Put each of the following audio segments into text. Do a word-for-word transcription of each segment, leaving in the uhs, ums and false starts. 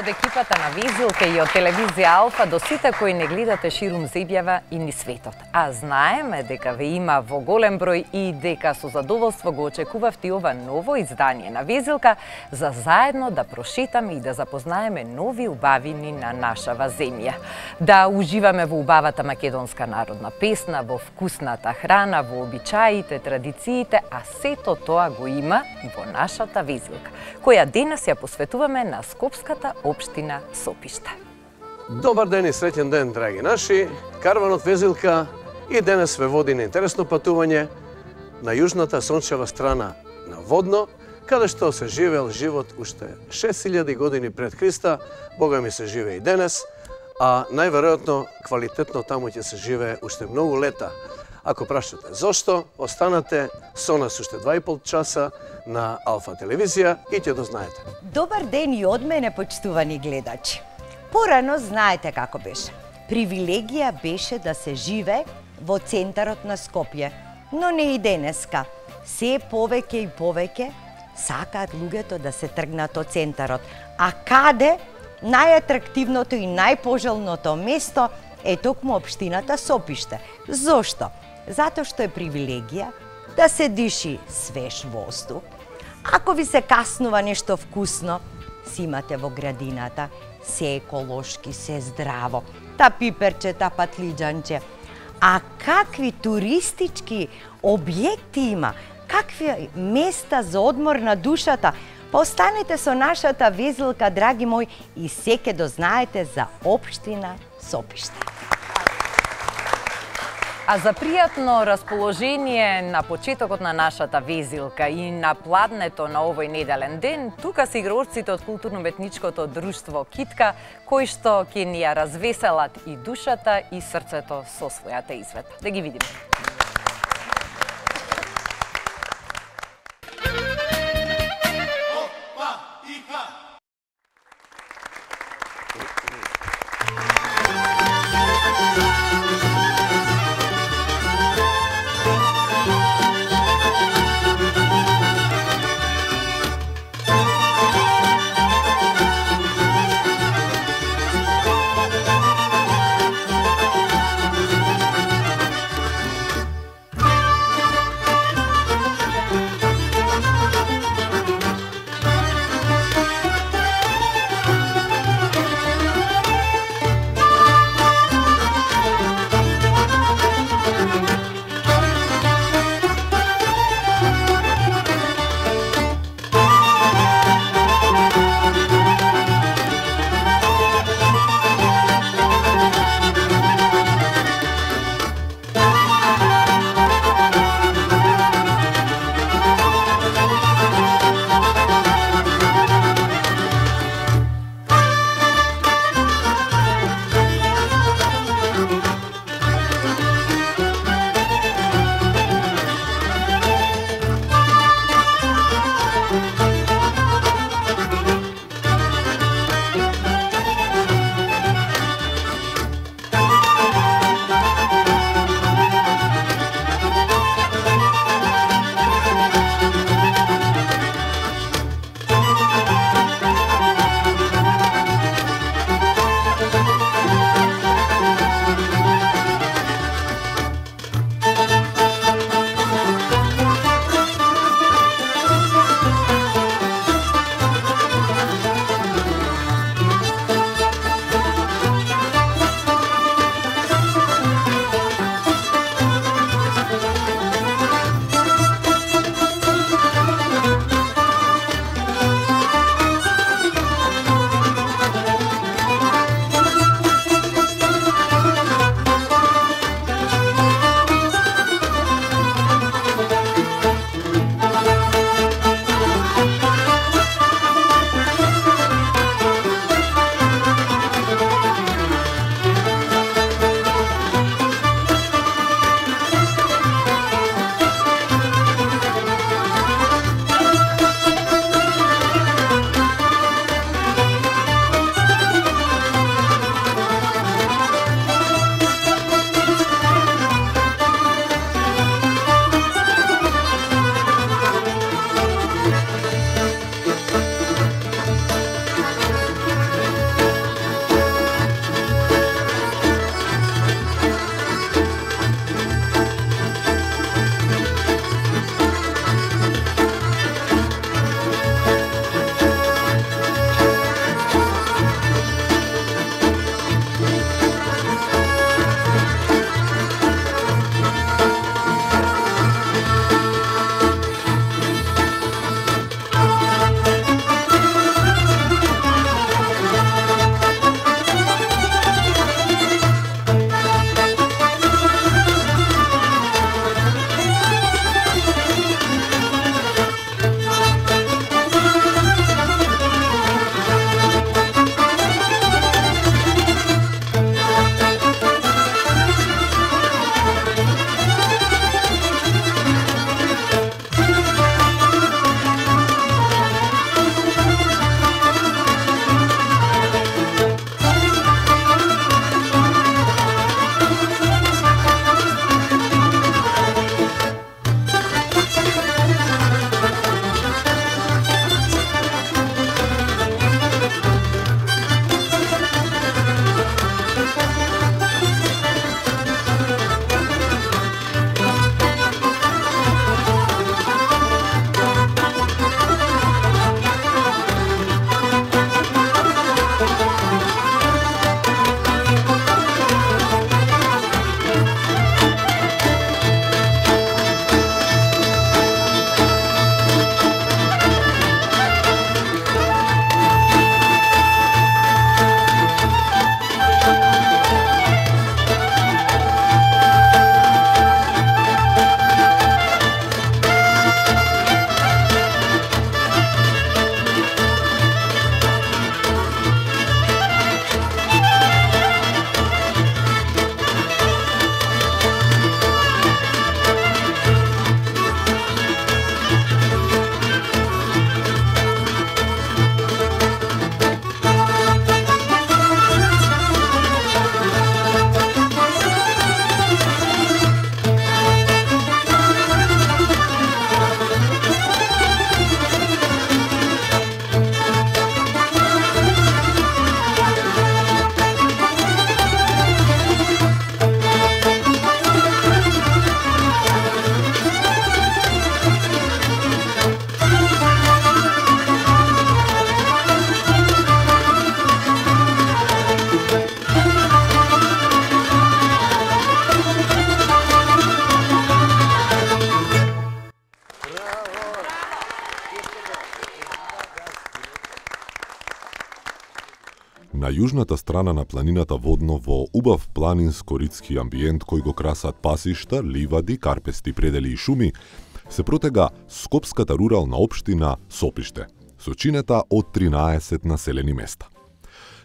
од екипата на Везилка и од телевизија Алфа до сите кои не гледате ширум земјава и низ светот. А знаеме дека ве има во голем број и дека со задоволство го очекувавте ова ново издание на Везилка за заедно да прошетаме и да запознаеме нови убавини на нашава земја. Да уживаме во убавата македонска народна песна, во вкусната храна, во обичаите, традициите, а сето тоа го има во нашата Везилка, која денес ја посветуваме на Скопската општина Сопиште. Добар ден и среќен ден, драги наши. Карванот Везилка и денес ве води на интересно патување на јужната сончева страна на Водно, каде што се живеел живот уште шест илјади години пред Христа, Бога ми се живее и денес, а најверојатно квалитетно таму ќе се живее уште многу лета. Ако прашате зошто, останате со нас уште два и пол часа на Алфа телевизија и ќе дознаете. Добар ден и од мене, почитувани гледачи. Порано знаете како беше. Привилегија беше да се живе во центарот на Скопје, но не и денеска. Се повеќе и повеќе сакаат луѓето да се тргнат од центарот. А каде? Најатрактивното и најпожелното место е токму општината Сопиште. Зошто? Затоа што е привилегија да се диши свеж воздух. Ако ви се каснува нешто вкусно, си имате во градината, се еколошки, се здраво, та пиперче, та патлиџанче. А какви туристички објекти има, какви места за одмор на душата, па останете со нашата везелка, драги мои, и се ќе дознаете за општина Сопиште. А за пријатно расположение на почетокот на нашата везилка и на пладнето на овој неделен ден, тука се играорците од културно-уметничкото друштво Китка, кои што ќе ни ја развеселат и душата и срцето со својата изведба. Да ги видиме. На јужната страна на планината Водно, во убав планинско-ридски амбиент кој го красат пасишта, ливади, карпести предели и шуми, се протега скопската рурална општина Сопиште, со чинета од тринаесет населени места.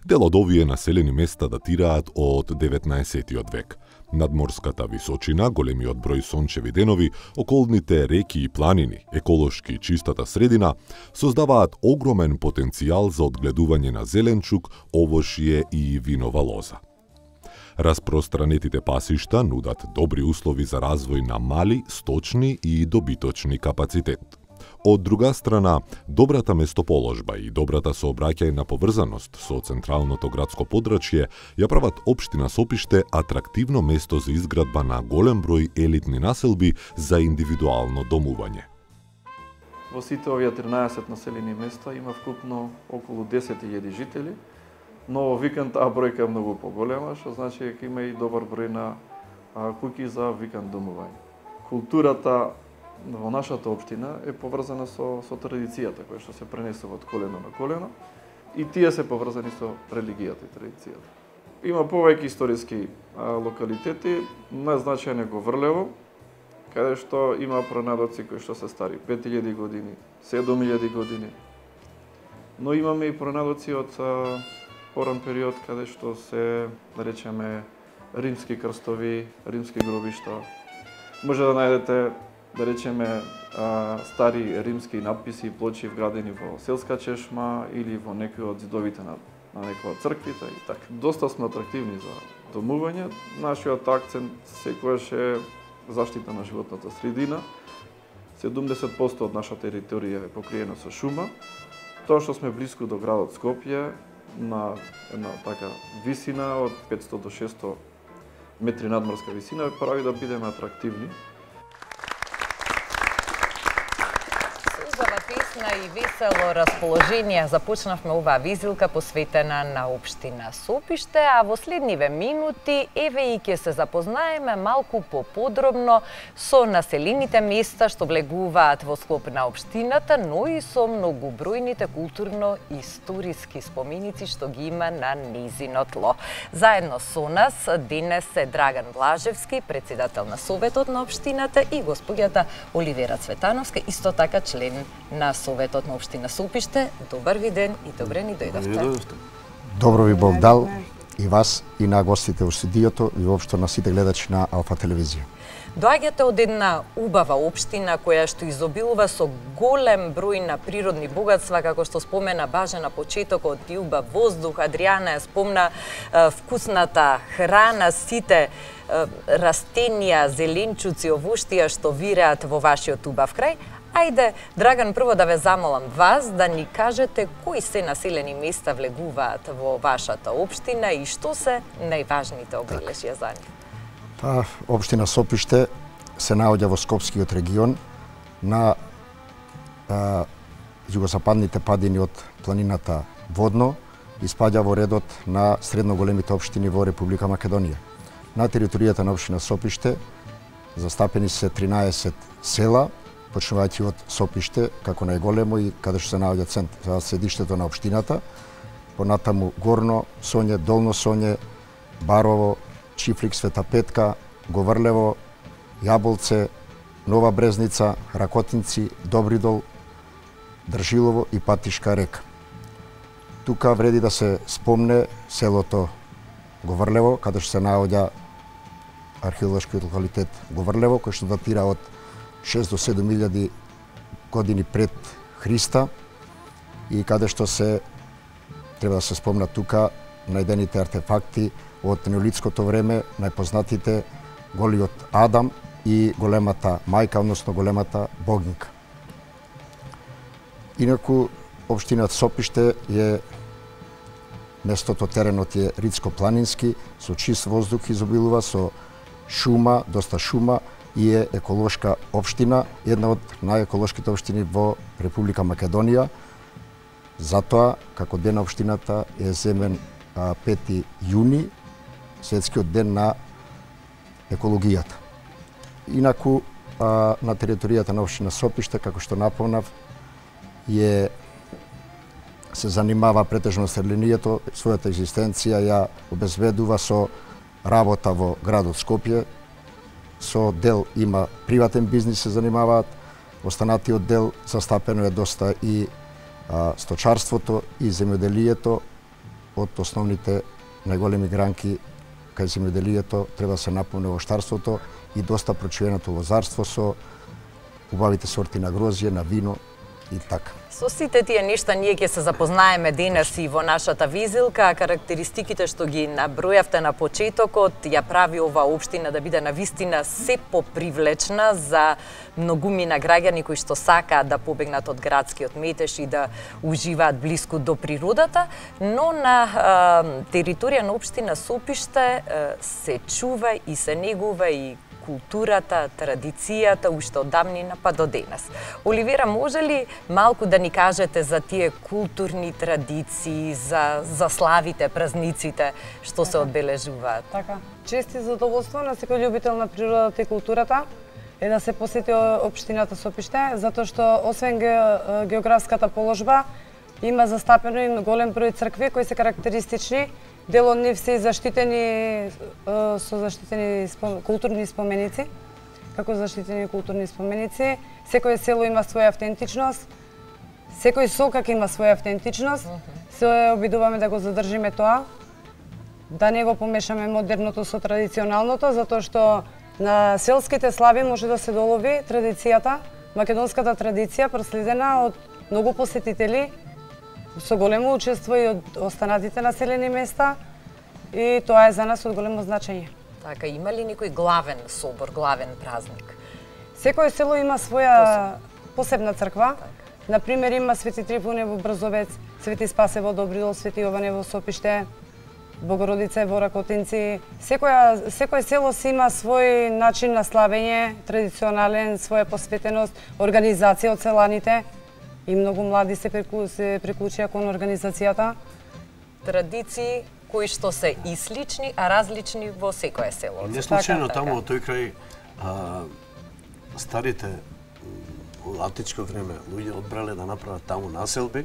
Дел од овие населени места датираат од деветнаесеттиот век. Надморската височина, големиот број сончеви денови, околните реки и планини, еколошки чистата средина, создаваат огромен потенцијал за одгледување на зеленчук, овошје и винова лоза. Распространетите пасишта нудат добри услови за развој на мали, сточни и добиточни капацитет. Од друга страна, добрата место-положба и добрата сообраќајна поврзаност со централното градско подрачје ја прават општина Сопиште атрактивно место за изградба на голем број елитни населби за индивидуално домување. Во сите овие тринаесет населени места има вкупно околу десет илјади жители, но во викенд таа бројка е многу поголема, што значи дека има и добар број на куќи за викенд домување. Културата во нашата општина е поврзана со, со традицијата, која што се пренесува од колено на колено, и тие се поврзани со религијата и традицијата. Има повеќе историски а, локалитети, најзначајен е Говрлево, каде што има пронадоци кои што се стари пет илјади години, седум илјади години, но имаме и пронадоци од а, поран период, каде што се, да речеме, римски крстови, римски гробишта. Може да најдете, да речеме, стари римски надписи и плочи вградени во селска чешма или во некои од зидовите на, на некоја црквита и така. Доста сме атрактивни за домување. Нашиот акцент секогаш е заштита на животната средина. седумдесет проценти од наша територија е покриена со шума. Тоа што сме блиску до градот Скопје, на една така висина од петстотини до шестоста метри надморска висина, прави да бидеме атрактивни. И весело расположение започнавме оваа визилка посветена на општина Сопиште, а во следниве минути еве и ќе се запознаеме малку поподробно со населените места што влегуваат во склоп на општината, но и со многобројните културно-историски споменици што ги има на нејзино тло. Заедно со нас денес е Драган Блажевски, председател на Советот на општината, и госпоѓата Оливера Цветановска, исто така член на Советот на општина Сопиште. Добар ви ден и добре ни дојдовте. Добро ви Бог дал и вас и на гостите во студиото и воопшто на сите гледачи на Алфа телевизија. Доаѓате од една убава општина која што изобилува со голем број на природни богатства, како што спомена Баже на почетокот, и убав воздух. Адријана ја спомна е, вкусната храна, сите е, растенија, зеленчуци, овоштија што виреат во вашиот убав крај. Ајде, Драган, прво да ве замолам вас да ни кажете кои се населени места влегуваат во вашата општина и што се најважните обелешја за нив. Та општина Сопиште се наоѓа во Скопскиот регион на а, југозападните падини од планината Водно и спаѓа во редот на средно големите општини во Република Македонија. На територијата на општина Сопиште застапени се тринаесет села, почнувајќи од Сопиште, како најголемо и каде што се наоѓа центар, седиштето на општината, понатаму Горно Соње, Долно Соње, Барово, Чифлик, Света Петка, Говрлево, Јаболце, Нова Брезница, Ракотинци, Добридол, Држилово и Патишка река. Тука вреди да се спомне селото Говрлево, каде што се наоѓа археолошкиот локалитет Говрлево, кој што датира од шест до седум илјади години пред Христа и каде што се треба да се спомна тука најдените артефакти од неолитското време, најпознатите голиот Адам и големата мајка, односно големата богинка. Инаку општината Сопиште е местото, теренот е ридско-планински, со чист воздух изобилува, со шума, доста шума, и е еколошка општина, една од најеколошките општини во Република Македонија. Затоа, како ден на општината е земен пети јуни, светскиот ден на екологијата. Инаку, на територијата на општина Сопиште, како што напомнав, е се занимава претежно со религијето, својата екзистенција ја обезбедува со работа во градот Скопје, со дел има приватен бизнис се занимаваат, останатиот дел застапено е доста и а, сточарството и земјоделието. Од основните најголеми гранки кај земјоделието треба да се напомне овощарството и доста прочуеното лозарство со убавите сорти на грозје, на вино и така. Со сите тие нешта ние ќе се запознаеме денес и во нашата визилка. Карактеристиките што ги набројавте на почетокот ја прави оваа општина да биде навистина се попривлечна за многумина граѓани кои што сакаат да побегнат од градскиот метеж и да уживаат блиску до природата, но на а, територија на општина Сопиште а, се чува и се негува и културата, традицијата уште од давнина па до денес. Оливера, може ли малку да ни кажете за тие културни традиции, за, за славите, празниците што се одбележуваат? Така. Чест и задоволство на секој љубител на природата и културата е да се посети општината Сопиште, затоа што освен географската положба има застапено и голем број цркви кои се карактеристични. Дел од нив се заштитени со заштитени спом... културни споменици, како заштитени културни споменици. Секој село има своја автентичност, секој сокак има своја автентичност. Се обидуваме да го задржиме тоа, да не го помешаме модерното со традиционалното, затоа што на селските слави може да се долови традицијата, македонската традиција проследена од многу посетители, со големо учество и од останатите населени места, и тоа е за нас од големо значење. Така, има ли некој главен собор, главен празник? Секој село има своја посебна црква. Например, има Свети Трифуне во Брзовец, Свети Спасе во Добридол, Свети Јоване во Сопиште, Богородица во Ракотинци. Секоја, секој село си има свој начин на славење, традиционален, своја посветеност, организација од селаните. И многу млади се, преку, се приклучија кон организацијата. Традиции кои што се и слични, а различни во секое село. Не случајно така, таму во тој крај а, старите во античко време луѓе одбрале да направат таму населби,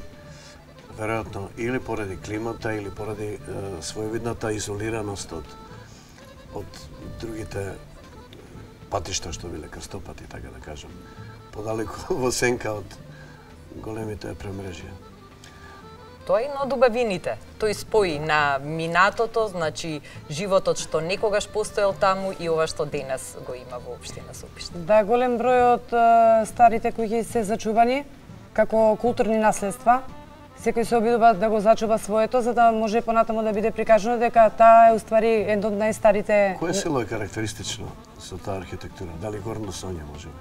веројатно или поради климата или поради е, своевидната изолираност од од другите патишта што биле крстопати, така да кажам, подалеку во сенка од големите премрежија. Тоа е на добавините. Тој спои на минатото, значи животот што некогаш постоел таму и ова што денес го има во општина Сопиште. Да, голем број од uh, старите кои се зачувани како културни наследства. Секој се обидува да го зачува своето, за да може понатаму да биде прикажано дека таа е уствари едно од најстарите. Кое село е карактеристично со таа архитектура? Дали Горно Сонје може би?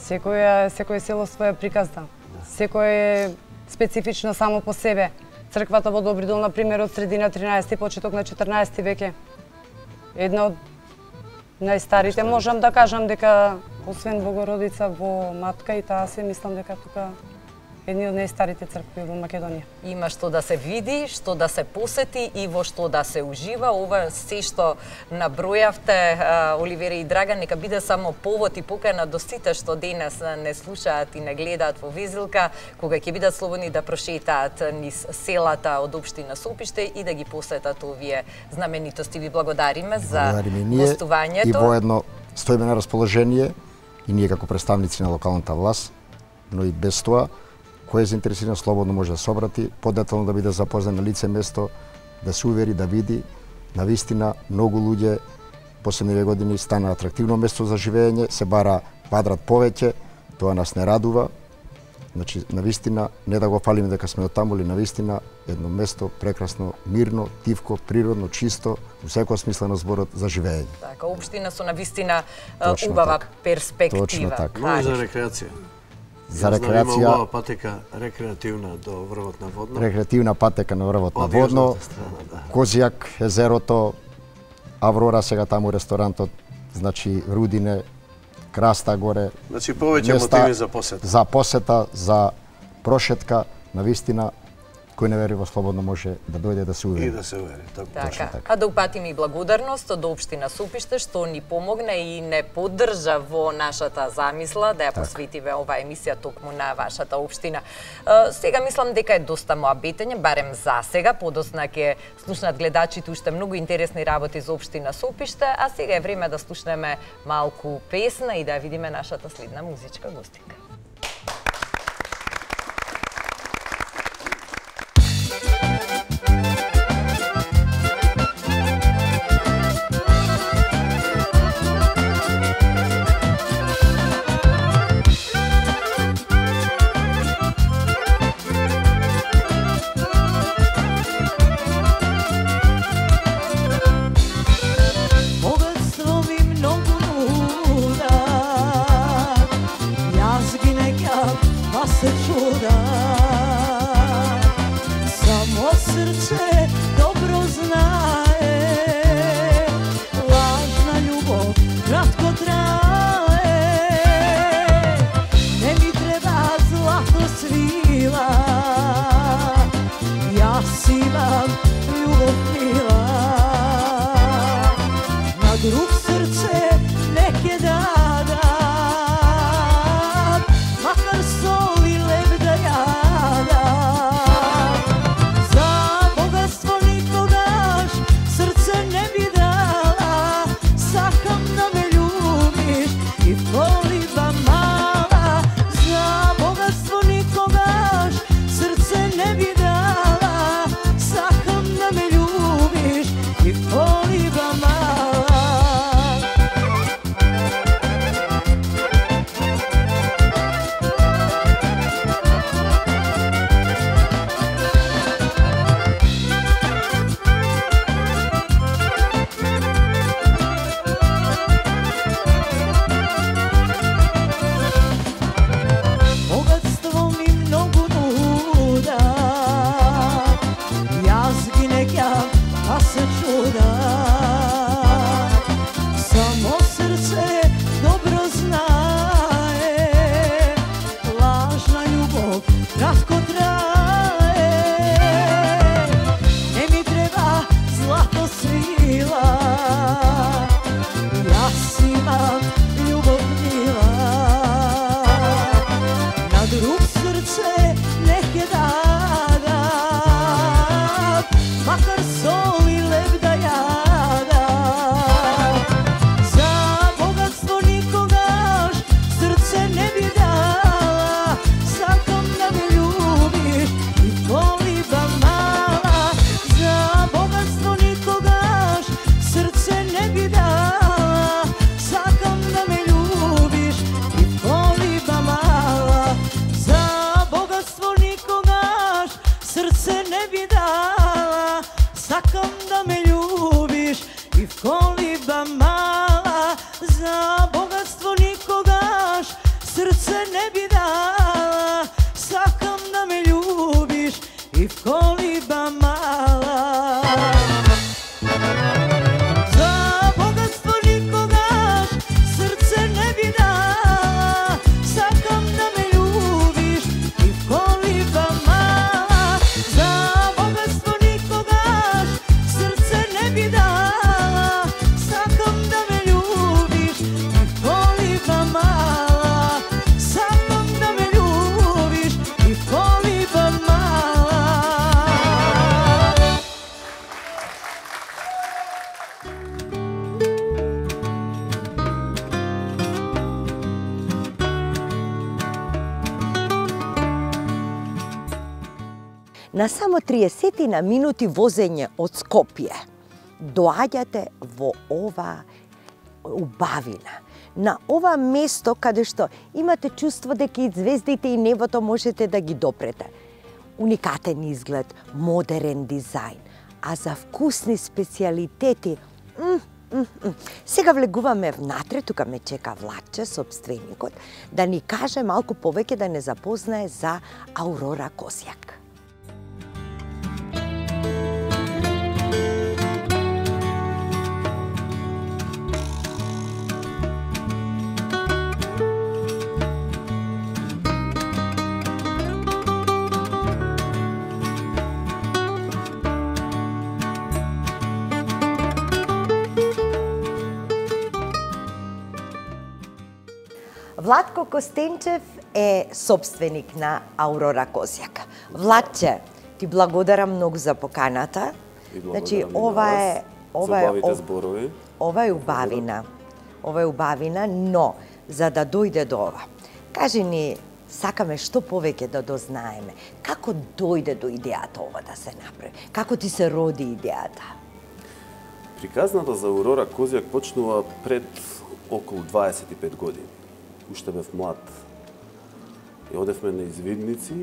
Секој секој село своја приказна. Да. Секој е специфично само по себе. Црквата во Добридол, на пример, од средина тринаесети, почеток на четрнаесети веќе. Една од најстарите, можам да кажам дека освен Богородица во Матка и таа се мислам дека тука едни од најстарите цркви во Македонија. Има што да се види, што да се посети и во што да се ужива. Ова се што набројавте, Оливера и Драган, нека биде само повод и покана до сите што денес не слушаат и не гледаат во визилка, кога ќе бидат слободни да прошетаат низ селата од општина Сопиште и да ги посетат овие знаменитости. Ви благодариме за гостувањето. И воедно стоиме на расположение и ние како представници на локалната власт, но и без тоа, кој е заинтересиран слободно може да се обрати, подетално да биде запознат на лице место, да се увери, да види. Навистина, многу луѓе последниве години стана атрактивно место за живење, се бара бадрат повеќе, тоа нас не радува. Значи, навистина, не да го фалиме дека сме од таму, или навистина едно место прекрасно, мирно, тивко, природно, чисто, во секој смисла на зборот за живење. Така, општина со навистина убава така. перспектива. Точно така. Но и за рекреација. За рекреација. Има убава патека рекреативна до врвот на Водно. Рекреативна патека на врвот на Водно. Страна, да. Козијак, езерото, Аврора сега таму ресторантот, значи Рудине, Краста горе. Значи повеќе мотиви за посета. За посета, за прошетка, навистина кој не верува слободно може да дојде да се увери. И да се увери. Така. така. А да упатиме и благодарност од општина Сопиште што ни помогна и не поддржа во нашата замисла да ја посветиве оваа емисија токму на вашата општина. Сега мислам дека е доста моабетење, барем за сега, подосна ќе слушнат гледачите уште многу интересни работи за општина Сопиште, а сега е време да слушнеме малку песна и да видиме нашата следна музичка гостинка. На само триесет на минути возење од Скопје доаѓате во ова убавина, на ова место каде што имате чувство дека и звездите и небото можете да ги допрете. Уникатен изглед, модерен дизајн, а за вкусни специјалитети, м, м, м. Сега влегуваме внатре, тука ме чека Владче, собственикот, да ни каже малку повеќе, да не запознае за Аурора Косјак. Владко Костенчев е собственик на Аурора Козјак. Владче, ти благодарам многу за поканата. Значи, ова е ова е ов... зборови. Ова е убавина. Ова е убавина, но за да дојде до ова, кажи ни, сакаме што повеќе да дознаеме. Како дојде до идејата ова да се направи? Како ти се роди идејата? Приказната за Аурора Козјак почнува пред околу дваесет и пет години. Уште бев млад. И одевме на извидници,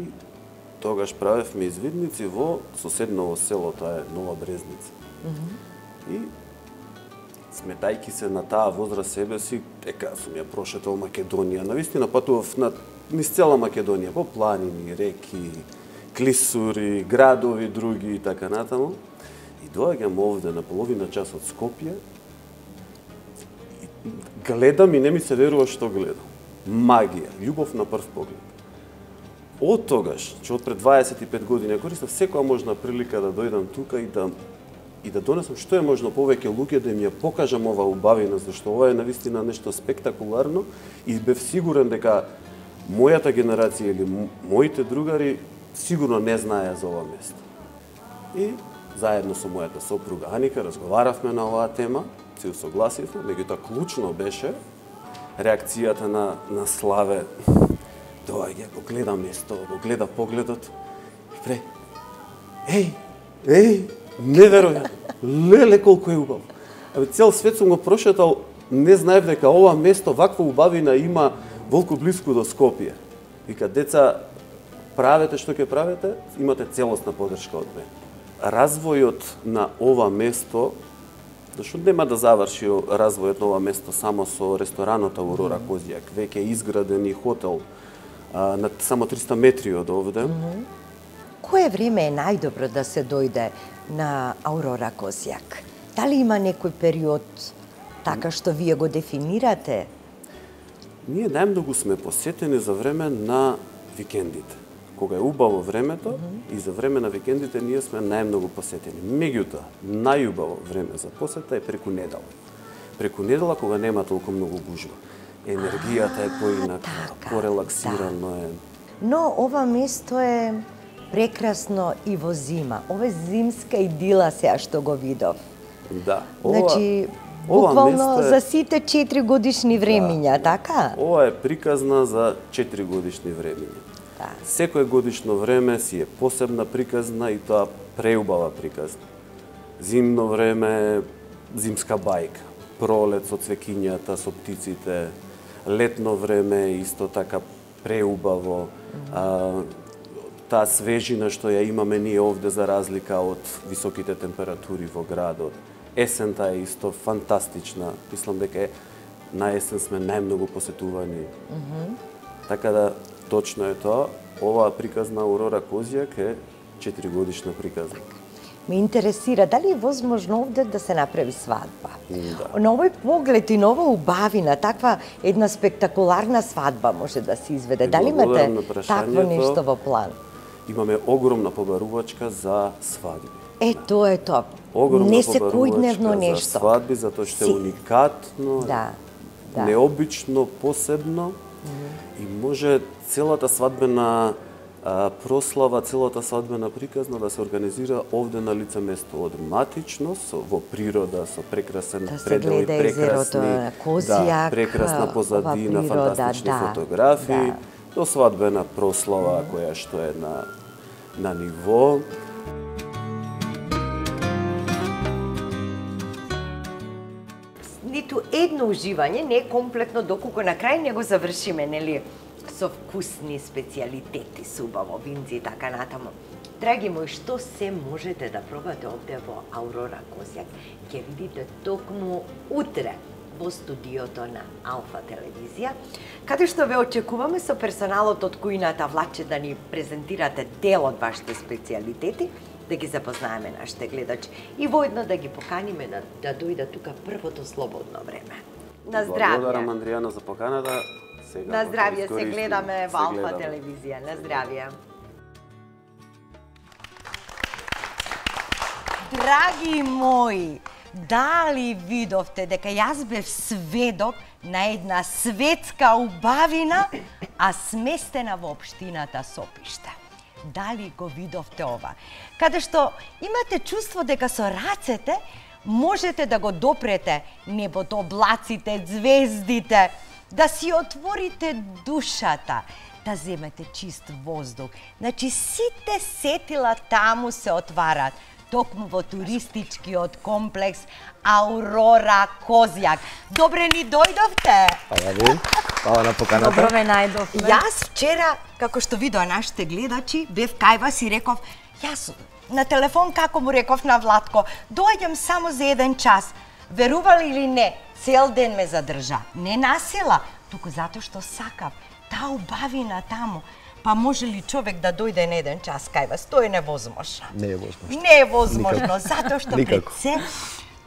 тогаш правевме извидници во соседново село, тоа е Нова Брезница. Mm -hmm. И сметајки се на таа возраст себе си, дека сум ја прошетал Македонија. Навистина патував на низ цела Македонија, по планини, реки, клисури, градови други и така натаму. И доаѓам овде на половина час од Скопје и гледам и не ми се верува што гледам. Магија, љубов на прв поглед. Од тогаш, че од пред дваесет и пет години, користам секоја можна прилика да дојдам тука и да и да донесам што е можно повеќе луѓе да им ја покажам ова убавина, зашто ова е навистина нешто спектакуларно и бев сигурен дека мојата генерација или моите другари сигурно не знаеа за ова место. И заедно со мојата сопруга Аника разговаравме на оваа тема, се усогласивме, меѓутоа клучно беше реакцијата на, на Славе. Доаѓа, го гледа место, го гледа погледот и пре, еј, еј, неверојатно, леле колку е убаво. Абе, цел свет сум го прошетал, не знаев дека ова место, ваква убавина има волку блиску до Скопје. Вика, деца, правете што ќе правите, имате целосна поддршка од мене. Развојот на ова место, зашто нема да заврши развојот на ова место само со ресторанот Аурора Козјак, веќе е изграден и хотел а, на само триста метри од овде. Mm -hmm. Кое време е најдобро да се дојде на Аурора Козјак? Дали има некој период така што вие го дефинирате? Ние најмногу сме посетени за време на викендите. Кога е убаво времето, mm -hmm. и за време на викендите ние сме најмногу посетени. Меѓутоа, најубаво време за посета е преку недела. Преку недела кога нема толку многу гужва. Енергијата е поинака, порелаксирано е. Но ова место е прекрасно и во зима. Ова е зимска идила сега што го видов. Да. Ова, значи, ова буквално е... за сите четири годишни времиња, да, така? Ова е приказна за четири годишни времиња. Да. Секое годишно време си е посебна приказна и тоа преубава приказна. Зимно време, зимска бајка. Пролет со цвекињата, со птиците. Летно време исто така преубаво. Mm-hmm. а, таа свежина што ја имаме ние овде за разлика од високите температури во градот. Есента е исто фантастична. Мислам дека е, на есен сме најмногу посетувани. Mm-hmm. Така да, точно е тоа. Оваа приказна Аурора Козјак е четири годишна приказна. Ме интересира, дали е возможно овде да се направи свадба? Да. На овој поглед и на ова убавина, таква една спектакуларна свадба може да се изведе. Дали имате такво нешто во план? Имаме огромна побарувачка за свадби. Е, тоа е тоа. Огромна не секојдневно нешто. За свадби, затоа што е уникатно, да, да. необично, посебно. Mm -hmm. И може целата свадбена а, прослава, целата свадбена приказна да се организира овде на лице место, од матичност, во природа, со прекрасен да предели, прекрасни, Козјак, да, прекрасна позадина, природа, фантастични да, фотографии, да. до свадбена прослава mm -hmm. која што е на на ниво. Ниту едно уживање не е комплетно доколку на крај не го завршиме, нели, со вкусни специјалитети, со убаво винци и така натаму. Драги мои, што се можете да пробате овде во Аурора Козјак, ќе видите токму утре во студиото на Алфа телевизија, каде што ве очекуваме со персоналот од кујната Владче да ни презентирате дел од вашите специјалитети, да ги запознаеме нашите гледачи и воедно да ги поканиме да, да дојдат тука првото слободно време. На здравје! Благодарам, Андријана, за поканата. Сега на здравје, се гледаме во Алфа телевизија. На здравје! Драги мои, Дали видовте дека јас бев сведок на една светска убавина, а сместена во општината Сопиште? Дали го видовте ова? Каде што имате чувство дека со рацете можете да го допрете небото, облаците, звездите, да си отворите душата, да земете чист воздух. Значи, сите сетила таму се отварат, токму во туристичкиот комплекс Аурора Козјак. Добре ни дојдовте! Фала ви, фала на поканата. Добро ме најдовме. Јас вчера, како што видоа нашите гледачи, бев кај вас и реков, јас на телефон како му реков на Владко, доаѓам само за еден час. Верували или не, цел ден ме задржа. Не насила, туку затоа што сакав. Таа убавина таму. Па може ли човек да дојде на еден час кај вас? Тоа е невозможно. Не е возможно. Не е возможно, затоа што пред Никако. се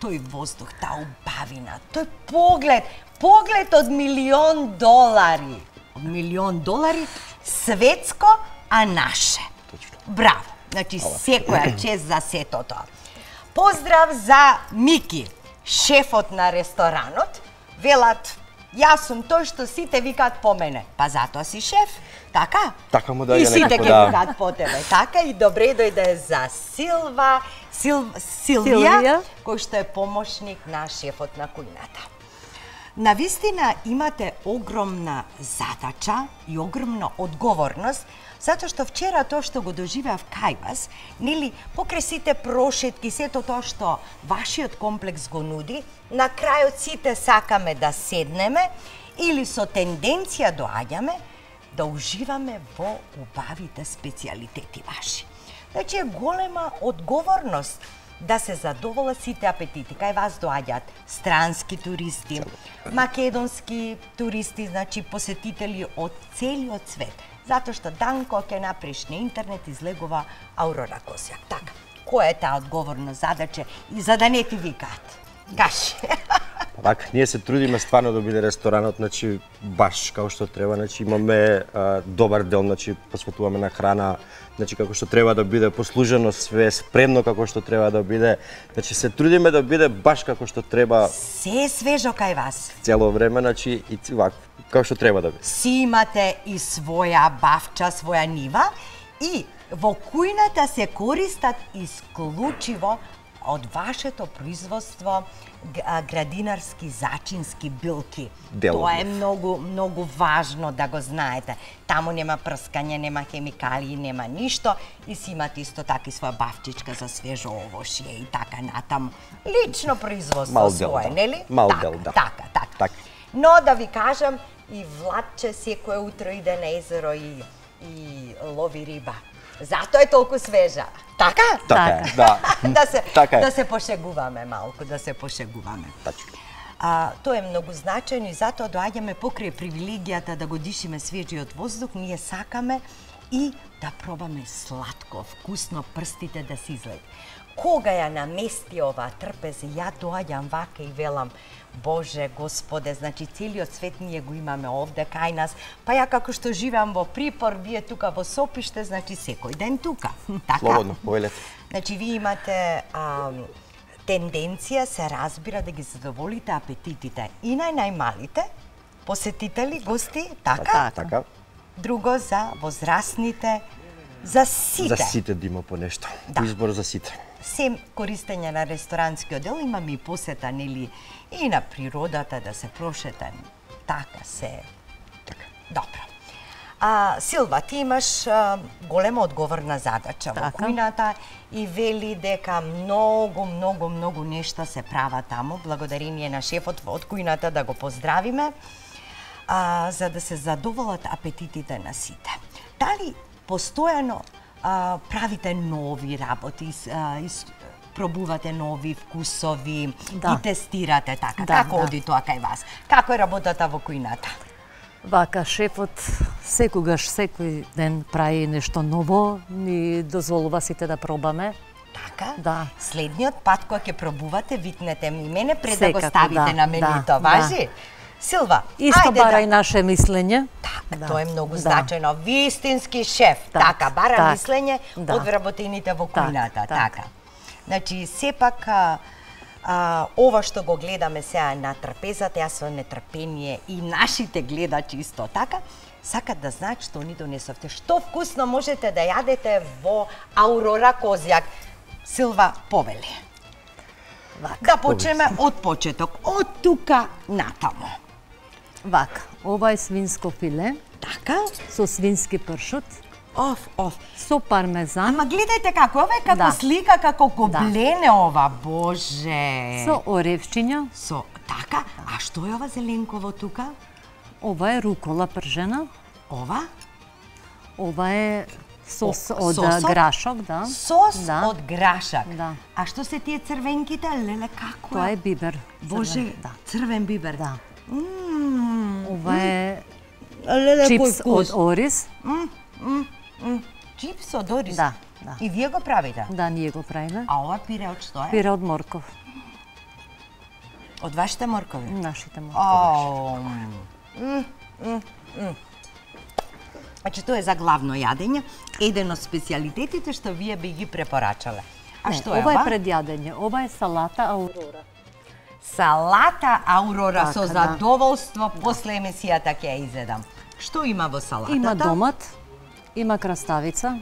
тој воздух, таа убавина, тој поглед, поглед од милион долари. Од милион долари, светско, а наше. Точно. Браво! Значи, секоја чест за сето тоа. Поздрав за Мики, шефот на ресторанот. Велат, јас сум тој што сите викаат по мене. Па затоа си шеф, така? Така му доаѓа И сите некако, ќе да. викаат по тебе, така? И добре дојде за Силва, Сил, Силвија, Силвија. кој што е помошник на шефот на кујната. Навистина имате огромна задача и огромна одговорност, затоа што вчера тоа што го доживеав кај вас, нели, покрај сите прошетки, сето тоа што вашиот комплекс го нуди, на крајот сите сакаме да седнеме или со тенденција доаѓаме да уживаме во убавите специјалитети ваши. Значи е голема одговорност да се задоволат сите апетити. Кај вас доаѓаат странски туристи, македонски туристи, значи посетители од целиот свет. Затоа што Данко ќе напреш на интернет излегува Аурора Козјак. Така, која е таа одговорна задача и за да не ти викаат? Кажи. Така, ние се трудиме стварно да биде ресторанот, значи баш како што треба, значи имаме а, добар дел, значи посветуваме на храна, значи како што треба да биде послужено, све спремно како што треба да биде. Значи се трудиме да биде баш како што треба Се е свежо кај вас. цело време, значи и вака како што треба да биде. Си имате и своја бавча, своја нива и во кујната се користат исклучиво од вашето производство градинарски зачински билки. Дело Тоа е нив. многу, многу важно да го знаете. Таму нема прскање, нема хемикалии, нема ништо и си имате исто така и своја бавчичка за свежо овошје и така натаму. Лично производство Мал дел, свое, да. нели? Мал така, дел, да. Така, така. Така. Но да ви кажам, и Владче секое утро иде на езеро и, и лови риба. Затоа е толку свежа. Така? Така е, да. да се Така е. да се пошегуваме малку, да се пошегуваме. Тачно. А, тоа е многу значајно и затоа доаѓаме покрај привилегијата да го дишиме свежиот воздух, ние сакаме и да пробаме сладко, вкусно, прстите да се излет. Кога ја намести оваа трпез, ја доаѓам вака и велам, Боже, Господе, значи целиот свет ние го имаме овде кај нас, па ја како што живеам во Припор, вие тука во Сопиште, значи секој ден тука. Така? Слободно, повелете. Значи, вие имате а, тенденција, се разбира, да ги задоволите апетитите и на најмалите посетители, гости, така? Така. Друго за возрастните, за сите. За сите да има по нешто. Да. Избор за сите. Сем користење на ресторанскиот дел, имаме и посета, нели, и на природата, да се прошетам. Така се. Така. Добро. А, Силва, ти имаш а, голема одговорна задача во Така. кујната и вели дека многу, многу, многу нешта се права таму, благодарение на шефот од кујната, да го поздравиме, а, за да се задоволат апетитите на сите. Дали постојано а, правите нови работи, ис- а, ис- пробувате нови вкусови, Да. и тестирате така? Да, Како да. оди тоа кај вас? Како е работата во кујната? Вака, шефот секогаш, секој ден прави нешто ново, ни дозволува сите да пробаме. Така? Да. Следниот пат кога ќе пробувате, викнете ми мене пред да го Секако, ставите да, на менито, да, важи? Силва, Исто ајде бара да... и наше мислење. Така, Да, тоа е многу да. значајно. Вистински шеф, Так, така, бара так, мислење да. од вработените во Так, кујната, так. така. Значи, сепак, а, А, ова што го гледаме сега на трапезата, јас со нетрпение и нашите гледачи исто така, сакат да знаат што ни донесовте. Што вкусно можете да јадете во Аурора Козјак. Силва, повели. Да почнеме од почеток, од тука натаму. Вака, ова е свинско филе. Така? Со свински пршут. Оф, оф. Со пармезан. Ама гледајте како, ова е како Да. слика, како коблене Да. ова, боже. Со оревчиња. Со, така? А што е ова зеленково тука? Ова е рукола пржена. Ова? Ова е сос О, од сосот? грашок, да. Сос Да. од грашак. Да. А што се тие црвенките? Леле, како Тоа е бибер. Боже, црвен, да. црвен бибер. Да. Мм. Ова е Леле, кој чипс од вкус. ориз. Мм, мм, мм. Чипс од ориз? Да, да. И вие го правите? Да, ние го правиме. А ова пире од што е? Пире од морков. Од вашите моркови? Нашите моркови. Ау. М, м, м. Значи, тоа е за главно јадење, еден од специјалитетите што вие би ги препорачале. А Не, што е ова? ова? е пред јадење. Ова е салата Аурора. Салата Аурора, Така, со да. задоволство, после емисијата ќе ја изедам. Што има во салатата? Има домат, има краставица,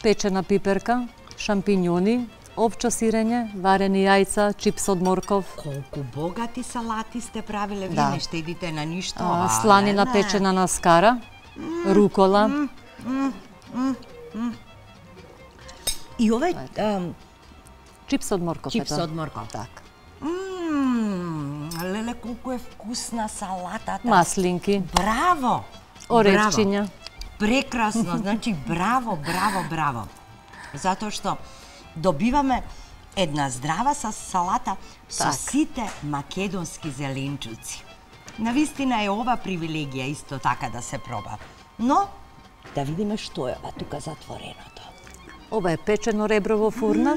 печена пиперка, шампинјони, овчо сирење, варени јајца, чипс од морков, Колку богати салати сте правиле, вие Да. не штедите на ништо. а, ова, сланина леле. печена на скара, рукола, И ова е ам, чипс од морков. чипс ето. од морков. Така. Мм, леле, колку е вкусна салатата. Маслинки, Браво! оревчиња. Браво. Прекрасно, значи браво, браво, браво. Затоа што добиваме една здрава са салата со Така. сите македонски зеленчуци. Навистина е ова привилегија исто така да се проба. Но, да видиме што е ова тука затвореното. Ова е печено ребро во фурна,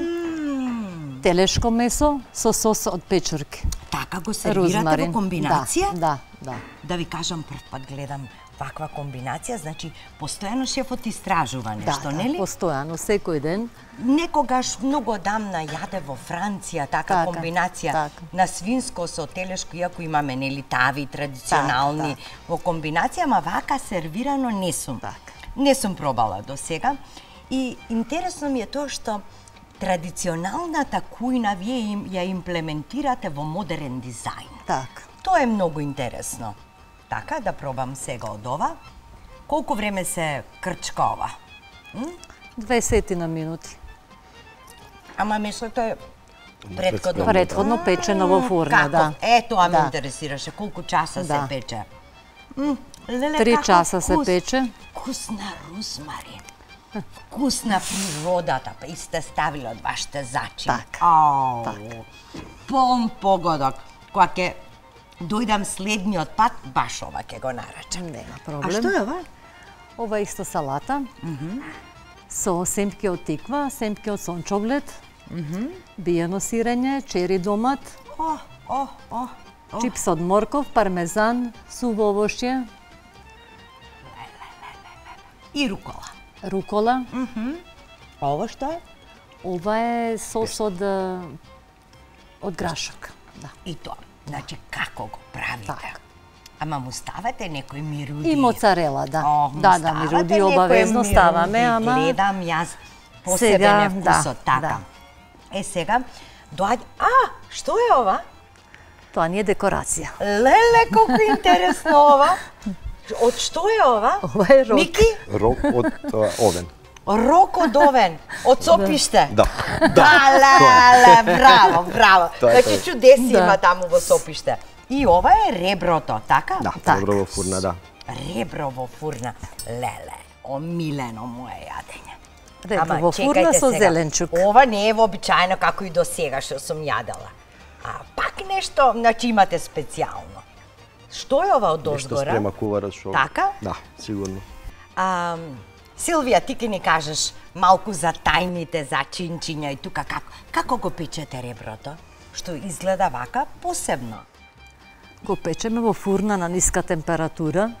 телешко месо со сос од печурки. Така го сервирате Розмарин. во комбинација? Да, да, да. Да ви кажам, прв пат гледам ваква комбинација, значи постојано шефот истражува нешто, да, нели? да, постојано, секој ден. Некогаш многу дамна јаде во Франција така, Така, комбинација така. на свинско со телешко, иако имаме нели тави традиционални Така, во комбинација, ама вака сервирано не сум. Така. Не сум пробала до сега. И интересно ми е тоа што традиционалната кујна вие им, ја имплементирате во модерен дизајн. Така. Тоа е многу интересно. Така, да пробам сега од ова. Колку време се крчка ова? дваесет на минути. Ама месото е предходно. Предходно печено во фурна, Како? да. Е, тоа ме Да. интересираше. Колку часа Да. се пече? М, леле, Три како часа се вкус. пече. Вкусна розмарин. Вкусна природата, па и сте ставили од вашите зачини. Така. Ау, Така. полн погодок. Кога ќе дојдам следниот пат, баш ова ќе го нарачам. Нема А проблем. што е ова? Ова е исто салата. Со семки од тиква, семки од сончоглед, биено сирење, чери домат, О, о, о, о. чипс од морков, пармезан, суво овошје, И рукола. рукола. А ова што е? Ова е сос од е, од грашок. Да. И тоа. Значи, како го правите? Така. Ама му ставате некој мируди? И моцарела, да. О, му Да, да, ставате мируди некој обавезно мируди. ставаме, ама Гледам јас посебен Сега, е вкусот, да, така. да. Е, сега, доаѓа... А, што е ова? тоа не е декорација. Леле, колку интересно ова. Од што е ова? Ова е рок. Мики? Рок од а, овен. Рок од овен, од сопиште. Да. Да, леле, браво, браво. Тоа е Значи, тоа. чудеси Да. има таму во сопиште. И ова е реброто, така? Да, Така. ребро во фурна, да. Ребро во фурна. Леле, омилено мое јадење. Ребро Ама, во фурна чекајте со сега. зеленчук. Ова не е вообичаено како и до сега што сум јадела. А пак нешто, значи имате специјално. Што е ова од Нешто озгора? спрема куварот што... Така? Да, сигурно. А, Силвија, ти ке ни кажеш малку за тајните, за чинчиња и тука како, како го печете реброто? Што изгледа вака посебно. Го печеме во фурна на ниска температура.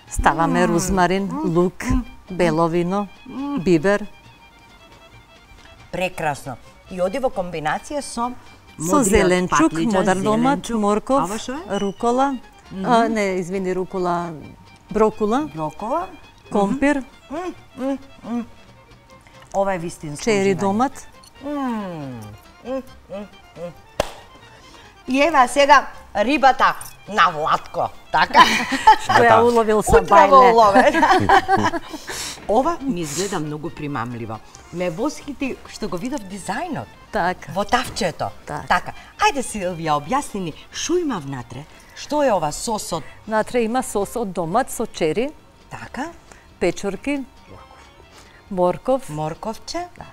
Ставаме розмарин, лук, бело вино, бибер. Прекрасно. И оди во комбинација со Со зеленчук, модар домат, морков, Ова што е? рукола, а, не, извини, рукола, брокула, Брокола. компир, Ова е вистинско чери уживање. домат. И ева сега рибата на Владко, така? Што ја уловил са Утрово бајле. уловен. Ова ми изгледа многу примамливо. Ме восхити што го видов дизајнот. Така. Во тавчето. Така. Така. Ајде Силвија, објасни ни, што има внатре? Што е ова сосот? Натре има сос од домат со чери, Така, печорки, морков, морковче. Да.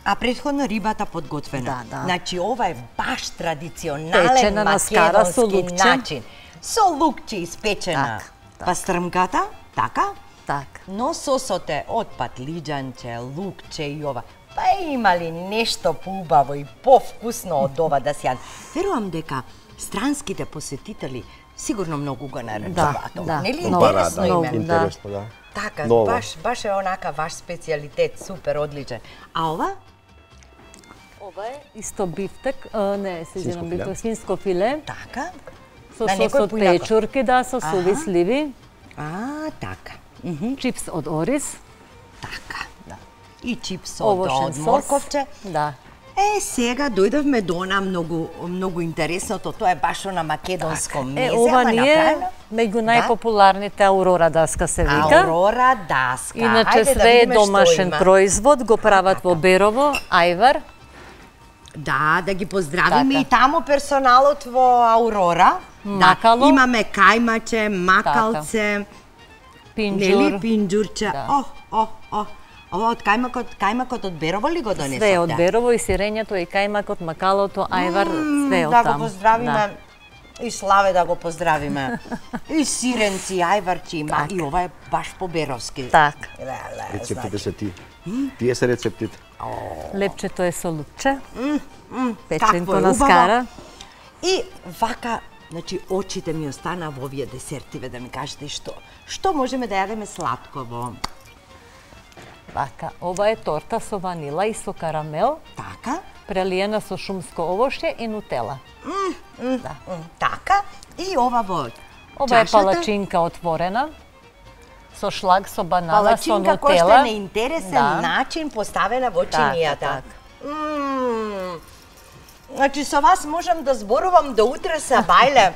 А претходно рибата подготвена. Да, да. Значи ова е баш традиционален Печена на скара со македонски лукче. начин. Со лукче испечена. Так, так. Пастрмката, така? така. Но сосот е од патлиџанче, лукче и ова. Па има ли нешто поубаво и повкусно од ова да се јаде? Верувам дека странските посетители сигурно многу го наречуваат. Да, да. Нели Многу, интересно да, име? многу. Интересно, да. Така, Ново. баш, баш е онака ваш специјалитет, супер, одличен. А ова? Ова е исто бифтек, а, не, се извинам, филе. бифтек, свинско филе, Така? со На сос некој од поинако. печорки, да, со суви Аха. сливи, А, така. чипс од ориз, Така. Да. И чипс од, овошен од сос. морковче. Да. Е, сега дојдовме до она многу, многу интересното, тоа е баш она македонско мезе, Е, ова ама ни е направено. меѓу најпопуларните Аурора даска се вика. Аурора даска. Иначе Ајде да све е видиме што домашен има. производ, го прават во Берово, ајвар. Да, да ги поздравиме Така. и тамо персоналот во Аурора. Макало. Да, имаме кајмаче, макалце, Пинџур. нели, пинџурче. Да. О, о, о. Ова од кајмакот, кајмакот од Берово ли го донесовте? Све од Берово и сирењето и кајмакот, макалото, ајвар, све од Да таму. го поздравиме. Да. И Славе да го поздравиме. И сиренци, ајварчи има. И ова е баш по-беровски. Така. Леле, Рецептите се ти. Тие се рецептите. Лепчето е со лукче, какво печенко е на убаво. скара. И вака, значи, очите ми остана во овие десертиве, да ми кажете што. Што можеме да јадеме сладко во... Вака, ова е торта со ванила и со карамел, Така? прелиена со шумско овошје и нутела. Да. М, Така? И ова во Ова е чашата? палачинка отворена, со шлаг, со банана, со Палачинка која што нутела. е на интересен Да. начин поставена во Така, чинијата. така. Мм. Значи, со вас можам да зборувам до утре са бајле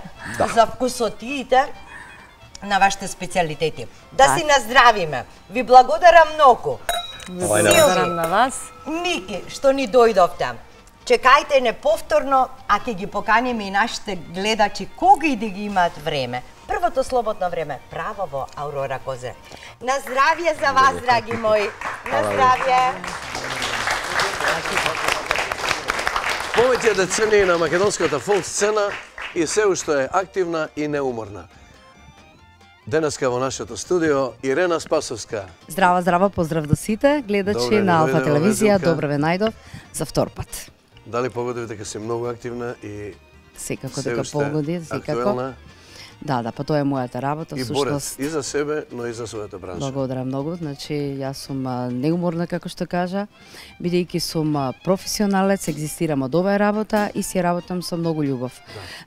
за вкусотиите на вашите специјалитети. Да си наздравиме. Ви благодарам многу. Благодарам на вас. Мики, што ни дојдовте. Чекајте не повторно, а ќе ги поканиме и нашите гледачи кога и да ги имаат време. Првото слободно време право во Аурора Козе. На здравје за вас, драги мои. На здравје. Повеќе децении на македонската фолк сцена и се уште е активна и неуморна. Денеска во нашето студио Ирена Спасовска. Здрава, здрава, поздрав до сите гледачи Добре, на Алфа дојде во телевизија. Везилка. Добро ве најдов за втор пат. Дали погоди дека си многу активна и Секако се дека уште погоди, секако. актуелна Да, да, па тоа е мојата работа, и всушност. борец и за себе, но и за својата бранша. Благодарам многу. Значи, јас сум а, неуморна, како што кажа, бидејќи сум а, професионалец, екзистирам од оваа работа и си работам со многу љубов.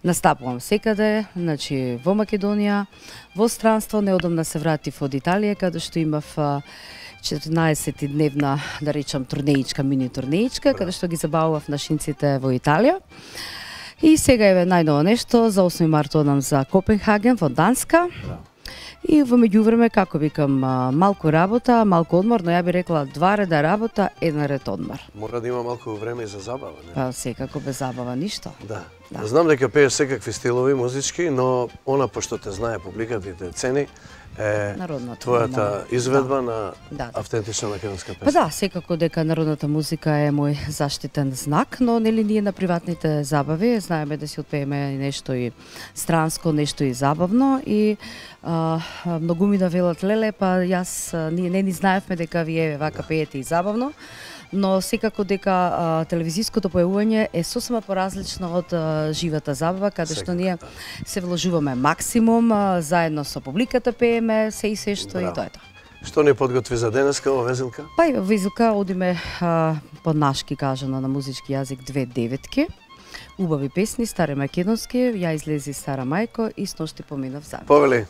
Настапувам секаде, значи во Македонија, во странство, неодамна се вратив од Италија, каде што имав а, четрнаесет дневна, да речам, турнеичка, мини турнеичка, каде што ги забавував нашинците во Италија. И сега еве најново нешто, за осми март одам за Копенхаген во Данска. И во меѓувреме, како викам, а, малку работа, малку одмор, но ја би рекла два реда работа, еден ред одмор. Мора да има малку време и за забава, не? Па секако без забава ништо. Да. Да. Знам дека пееш секакви стилови музички, но она пошто те знае публиката и те цени е Народната твојата музика. изведба на Да, да. автентична македонска Па песна. да, секако дека народната музика е мој заштитен знак, но нели ние на приватните забави знаеме да си отпееме нешто и странско, нешто и забавно и а, многу ми да велат леле, па јас а, ние не ни знаевме дека вие вака пеете и забавно. Но секако дека а, телевизиското појавување е сосема поразлично од а, живата забава, каде што Секако, ние да. се вложуваме максимум, а, заедно со публиката пееме, се и се што и Браво. тоа е тоа. Што ни подготви за денеска ова Везилка? Па и во Везилка одиме а, по нашки кажано на музички јазик две деветки. убави песни, стари македонски, ја излези Стара мајко и сношти поминав за. Повели.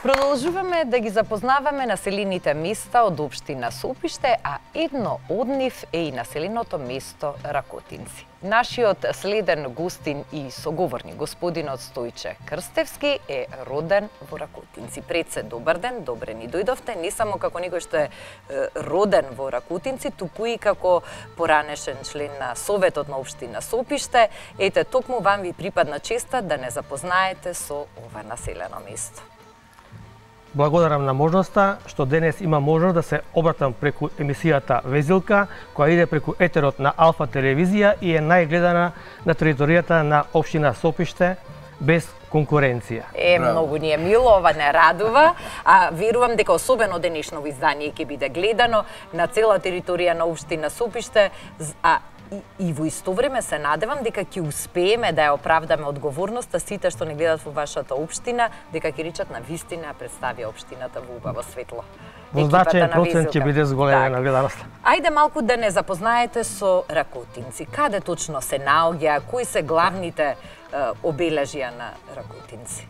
Продолжуваме да ги запознаваме населените места од општина Сопиште, а едно од нив е и населеното место Ракотинци. Нашиот следен гостин и соговорник, господинот Стојче Крстевски, е роден во Ракотинци. Пред се, добар ден, добре ни дојдовте, не само како некој што е роден во Ракотинци, туку и како поранешен член на Советот на општина Сопиште. Ете, токму вам ви припадна честа да не запознаете со ова населено место. Благодарам на можноста што денес има можност да се обратам преку емисијата Везилка, која иде преку етерот на Алфа телевизија и е најгледана на територијата на општина Сопиште, без конкуренција. Е, многу ни е мило, ова не радува, а верувам дека особено денешно издание ќе биде гледано на цела територија на општина Сопиште, а И, и во исто време се надевам дека ќе успееме да ја оправдаме одговорноста сите што не гледат во вашата општина, дека ќе речат на вистина представи општината во убаво светло. Во значаен процент ќе биде зголемена гледаноста. Ајде малку да не запознаете со Ракотинци. Каде точно се наоѓа, кои се главните е, обележја на Ракотинци?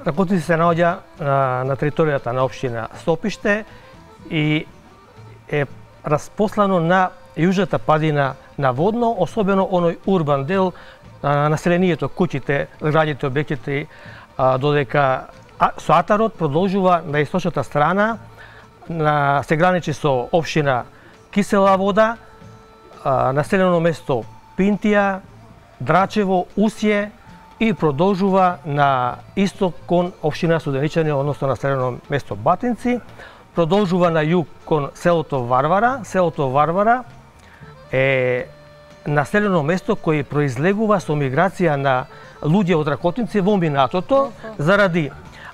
Ракотинци се наоѓа на, на територијата на општина Сопиште и е распослано на јужната падина на Водно, особено оној урбан дел, а, населението, куќите, градите, објектите, а, додека а, со атарот продолжува на источната страна, на, се граничи со општина Кисела Вода, а, населено место Пинтија, Драчево, Усје и продолжува на исток кон општина Студеничани, односно населено место Батинци, продолжува на југ кон селото Варвара. Селото Варвара е населено место кој произлегува со миграција на луѓе од Ракотинци во минатото заради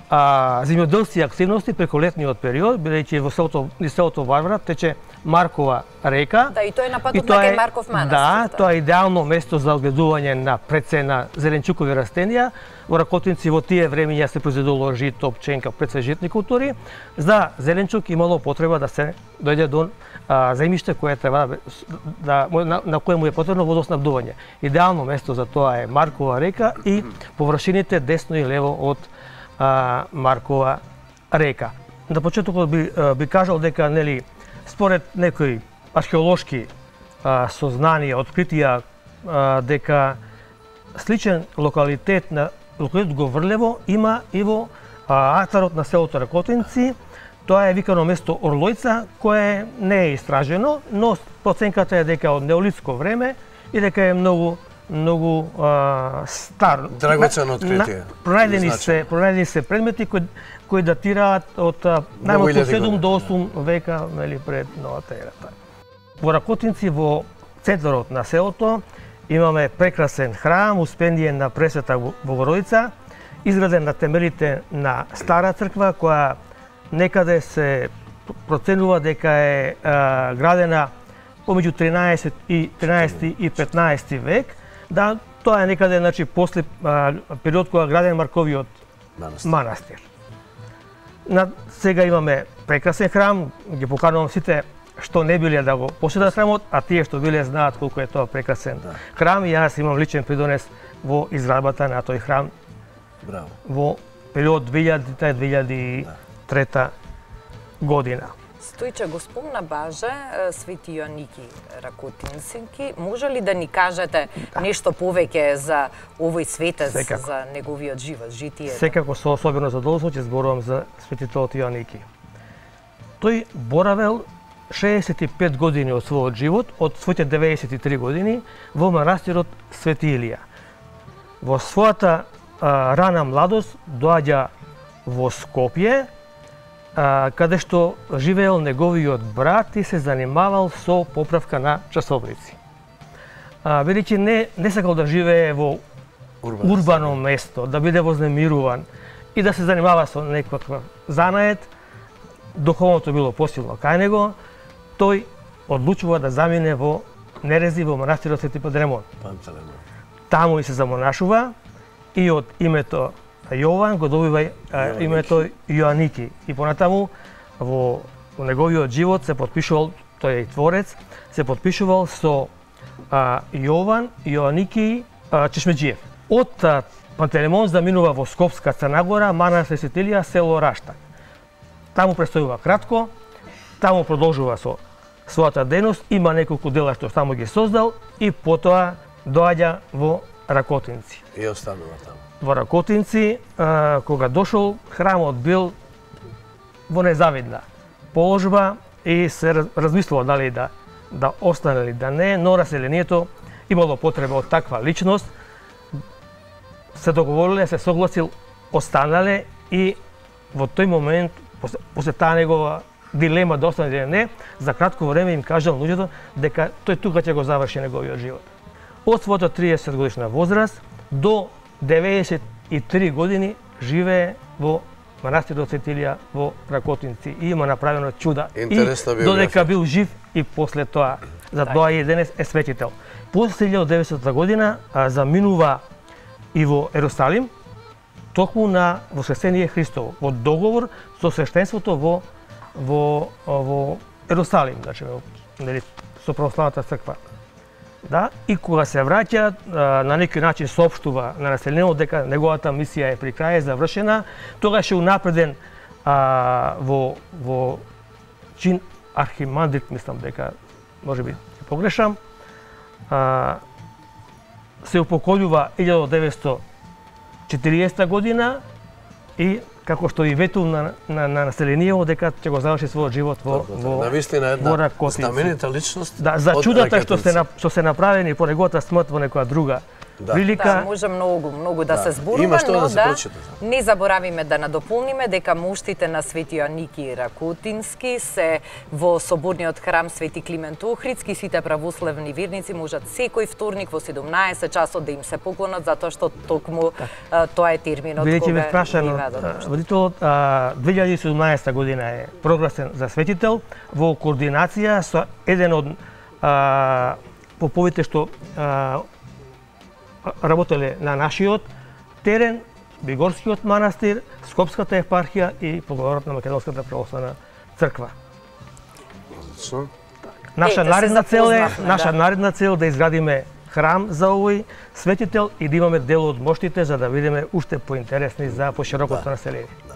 а, земјоделски активности преку летниот период, бидејќи во селото, низ селото Варвара тече Маркова река. Да, и тоа е на патот на кај Марков манастир. Да, тоа е идеално место за одгледување на прецена зеленчукови растенија. Во Ракотинци во тие времења се произведувало жито, пченка, преце житни култури. За зеленчук имало потреба да се дојде до а, земјиште кое треба да, да на, на кое му е потребно водоснабдување. Идеално место за тоа е Маркова река и површините десно и лево од а, Маркова река. На почетокот би, би кажал дека нели според некои археолошки а, сознанија, откритија а, дека сличен локалитет на локалитет Говрлево има и во а, атарот на селото Ракотинци. Тоа е викано место Орлојца, кое не е истражено, но проценката е дека од неолитско време и дека е многу многу а, стар. Драгоцено откритие. Пронајдени се, пронајдени се предмети кои кои датираат од најмалку седум до осум века, нели, пред новата ера. Во Ракотинци, во центарот на селото, имаме прекрасен храм, успендиен на Пресвета Богородица, изграден на темелите на Стара црква, која некаде се проценува дека е а, градена помеѓу тринаесети и петнаесети век. Да, тоа е некаде, значи, после а, период кога граден Марковиот манастир. манастир. На, сега имаме прекрасен храм, ги поканувам сите што не биле да го посетат храмот, а тие што биле знаат колку е тоа прекрасен да. храм и јас имам личен придонес во изградбата на тој храм. Браво. Во период две илјадите - две илјади и трета година. Стојче, го спомна баже Свети Јоаники Ракотинцинки. Може ли да ни кажете да. нешто повеќе за овој светец, Секако. за неговиот живот, житие? Секако со особено задоволство ќе зборувам за светител Јоаники. Тој боравел шеесет и пет години од својот живот, од своите деветдесет и три години, во манастирот Свети Илија. Во својата а, рана младост доаѓа во Скопје, а, каде што живеел неговиот брат и се занимавал со поправка на часовници. Бидејќи не, не сакал да живее во Урбан, урбано место, да биде вознемируван и да се занимава со некаква занаед, духовното било посилно кај него, тој одлучува да замине во Нерези, во манастирот Свети Пантелеймон. Таму и се замонашува и од името Јован го добива а, името Јоаники. И понатаму во, во неговиот живот се подпишувал, тој е и творец, се подпишувал со а, Јован Јоаники а, Чешмеджиев. Од а, Пантелеймон заминува во Скопска Црна Гора, манастир Свети Илија, село Раштак. Таму престојува кратко, таму продолжува со својата дејност, има неколку дела што таму ги создал и потоа доаѓа во Ракотинци. И останува таму. Во Ракотинци, а, кога дошол, храмот бил во незавидна положба и се размислува дали да да остане или да не, но населението имало потреба од таква личност, се договориле, се согласил, останале и во тој момент, после, после таа негова дилема да остане или не, за кратко време им кажал луѓето дека тој тука ќе го заврши неговиот живот. Од својата триесет годишна возраст до деветдесет и три години живее во манастирот Свети Илија во Ракотинци и има направено чуда. Интересна и додека бил жив и после тоа. Затоа и денес е светител. После илјада и деветстотна година а, заминува и во Ерусалим, токму на Воскресение Христово, во договор со свештенството во во во Ерусалим, значи нели со православната црква. Да, и кога се враќа, на некој начин соопштува на населението дека неговата мисија е при крај, завршена, тогаш е унапреден а, во во чин архимандрит, мислам дека можеби погрешам. А, се упокојува илјада деветстотина и четириесета година и како што и ветул на, на, на населението дека ќе го заврши својот живот во во навистина една знаменита личност. Да, за чудата што се што се направени по неговата смрт во некоја друга Да. прилика. Да, може многу, многу да, да се зборува, Има што но да се да прочита. не заборавиме да надополниме дека моштите на Свети Јоанники Ракутински се во соборниот храм Свети Климент Охридски. Сите православни верници можат секој вторник во седумнаесет часот да им се поклонат, затоа што токму да. тоа е терминот Бидејќи ме кога прашано, водителот две илјади и седумнаесета година е прогласен за светител во координација со еден од а, поповите што а, работеле на нашиот терен, Бигорскиот манастир, Скопската епархија и поглаварот на Македонската православна црква. Наша Ете, наредна цел е, наша да. наредна цел да изградиме храм за овој светител и да имаме дел од моштите за да бидеме уште поинтересни за поширокото да. население. Да.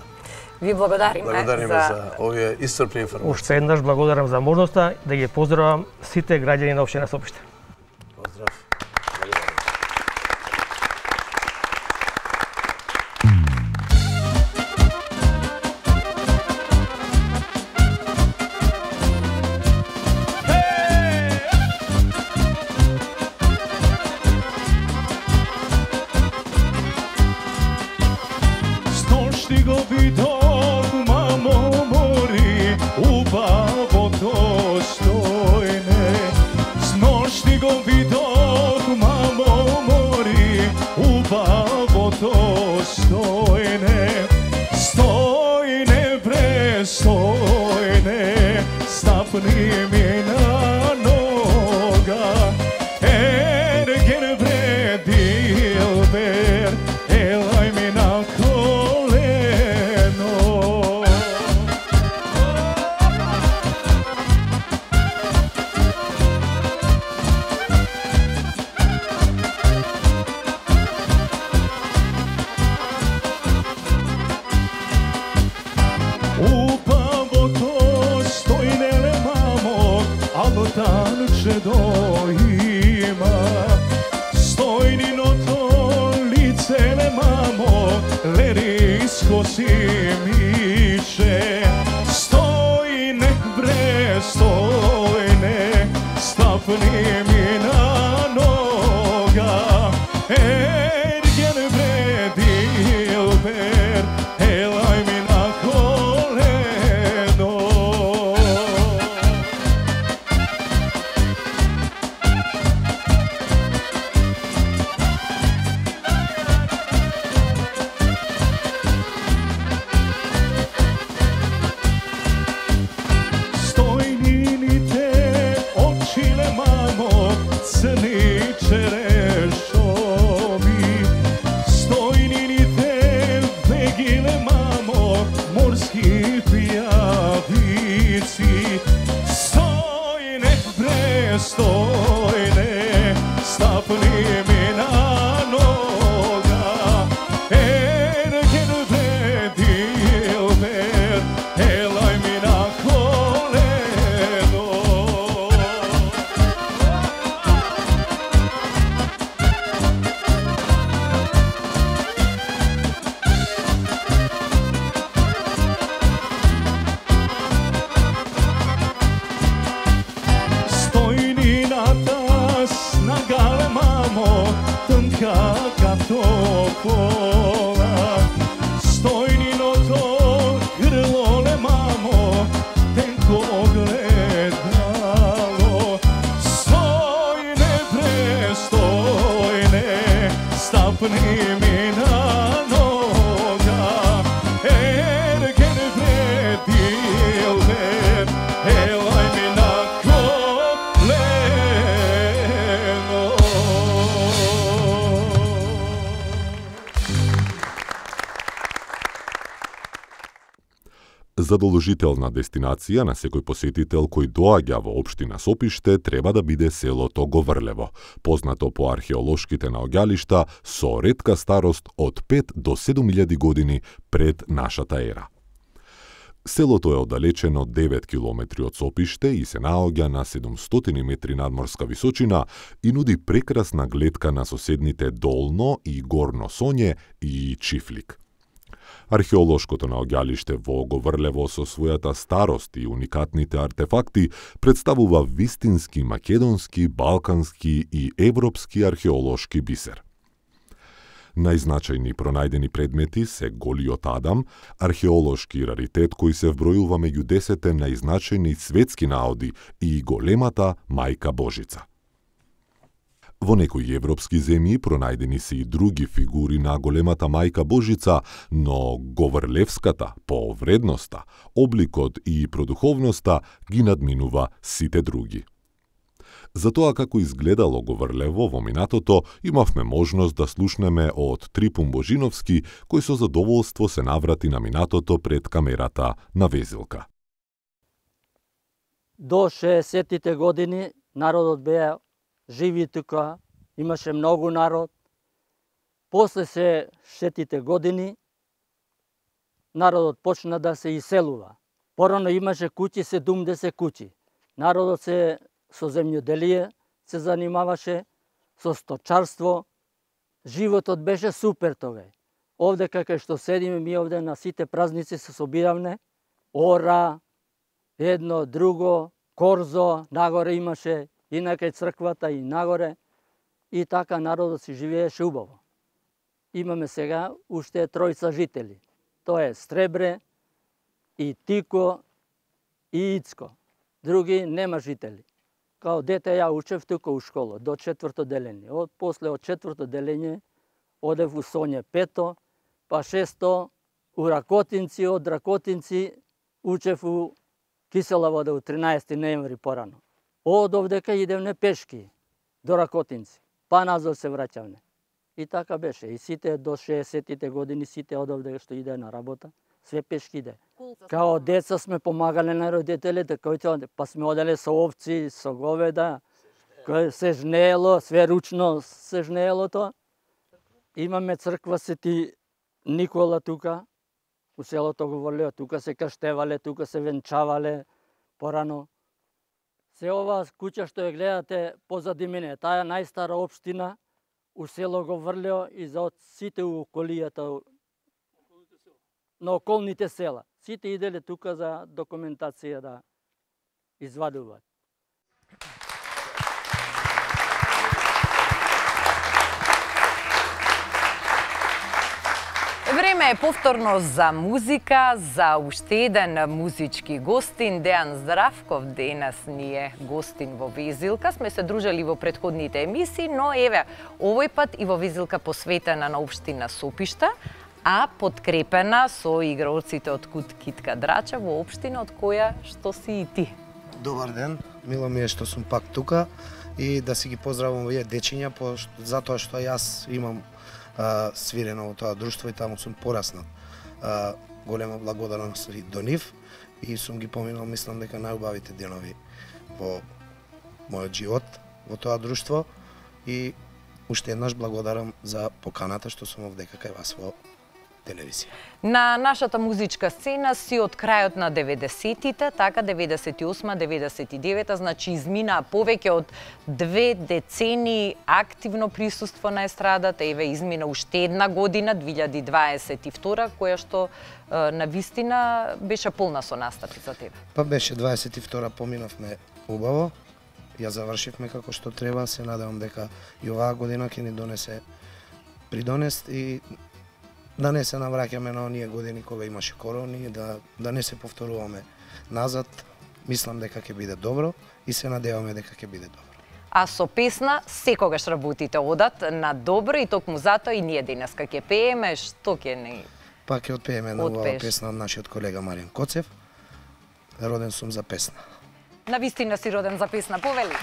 Ви благодариме, благодариме за... за овие исцрпни информации. Уште еднаш благодарам за можноста да ги поздравам сите граѓани на општина Сопиште. Поздрав. Stop me. Задолжителна дестинација на секој посетител кој доаѓа во општина Сопиште треба да биде селото Говрлево, познато по археолошките наоѓалишта со ретка старост од пет до седум илјади години пред нашата ера. Селото е оддалечено девет километри од Сопиште и се наоѓа на седумстотини метри надморска височина и нуди прекрасна гледка на соседните Долно и Горно Сонје и Чифлик. Археолошкото наоѓалиште во Говрлево со својата старост и уникатните артефакти представува вистински македонски, балкански и европски археолошки бисер. Најзначајни пронајдени предмети се Голиот Адам, археолошки раритет кој се вбројува меѓу десетте најзначајни светски наоди и големата Мајка Божица. Во некои европски земји пронајдени се и други фигури на големата Мајка Божица, но Говрлевската по вредноста, обликот и продуховноста ги надминува сите други. За тоа како изгледало Говрлево во минатото, имавме можност да слушнеме од Трипун Божиновски, кој со задоволство се наврати на минатото пред камерата на Везилка. До шеесеттите години народот беа живи тука, имаше многу народ. После се шестдесеттите години народот почна да се иселува. Порано имаше куќи, седумдесет куќи. Народот се со земјоделие се занимаваше, со сточарство. Животот беше супер тогај. Овде кај што седиме, ми овде на сите празници се собиравме. Ора, едно, друго, корзо, нагоре имаше, и на кај црквата, и нагоре. И така народот си живееше убаво. Имаме сега уште тројца жители. Тоа е Стребре, и Тико, и Ицко. Други нема жители. Као дете ја учев тука у школа, до четврто делење. Од после од четврто делење одев у Сонје пето, па шесто у Ракотинци, од Ракотинци учев у Кисела вода у тринаесети ноември порано. Од овдека идевне пешки до Ракотинци, па назад се враќавне. И така беше. И сите до шеесеттите години, сите од овде што иде на работа, све пешки иде. Као деца сме помагале на родителите, кои па сме оделе со овци, со говеда, кој се жнеело, све ручно се жнеело тоа. Имаме црква Свети Никола тука, у селото Говрлево, тука се крштевале, тука се венчавале порано. Се ова куќа што ја гледате позади мене, таа е најстара општина у село Говрлево и за од сите у околијата на околните села. Сите иделе тука за документација да извадуваат. Време е повторно за музика, за уште еден музички гостин. Дејан Здравков денес ни е гостин во Везилка. Сме се дружели во претходните емисии, но еве, овој пат и во Везилка посветена на општина Сопиште, а подкрепена со игралците од Кут Китка Драча во општина од која што си и ти. Добар ден, мило ми е што сум пак тука и да си ги поздравам овие дечиња, затоа што јас имам а, свирено во тоа друштво и таму сум пораснал. А, голема благодарност до нив и сум ги поминал, мислам дека најубавите денови во мојот живот во тоа друштво и уште еднаш благодарам за поканата што сум овдека кај вас во телевизија. На нашата музичка сцена си од крајот на деветдесеттите, така деветдесет и осма деветдесет и девета, значи изминаа повеќе од две децени активно присуство на естрадата. Еве измина уште една година, две илјади дваесет и втора, која што на вистина беше полна со настапи за тебе. Па беше дваесет и втора, поминавме убаво. Ја завршивме како што треба, се надевам дека и оваа година ќе ни донесе придонест и да не се навраќаме на оние години кога имаше корони, да, да не се повторуваме назад. Мислам дека ќе биде добро и се надеваме дека ќе биде добро. А со песна секогаш работите одат на добро и токму затоа и ние денеска ќе пееме, што ќе не... Па ќе отпееме на оваа песна од нашиот колега Маријан Коцев. Роден сум за песна. На вистина си роден за песна, повели.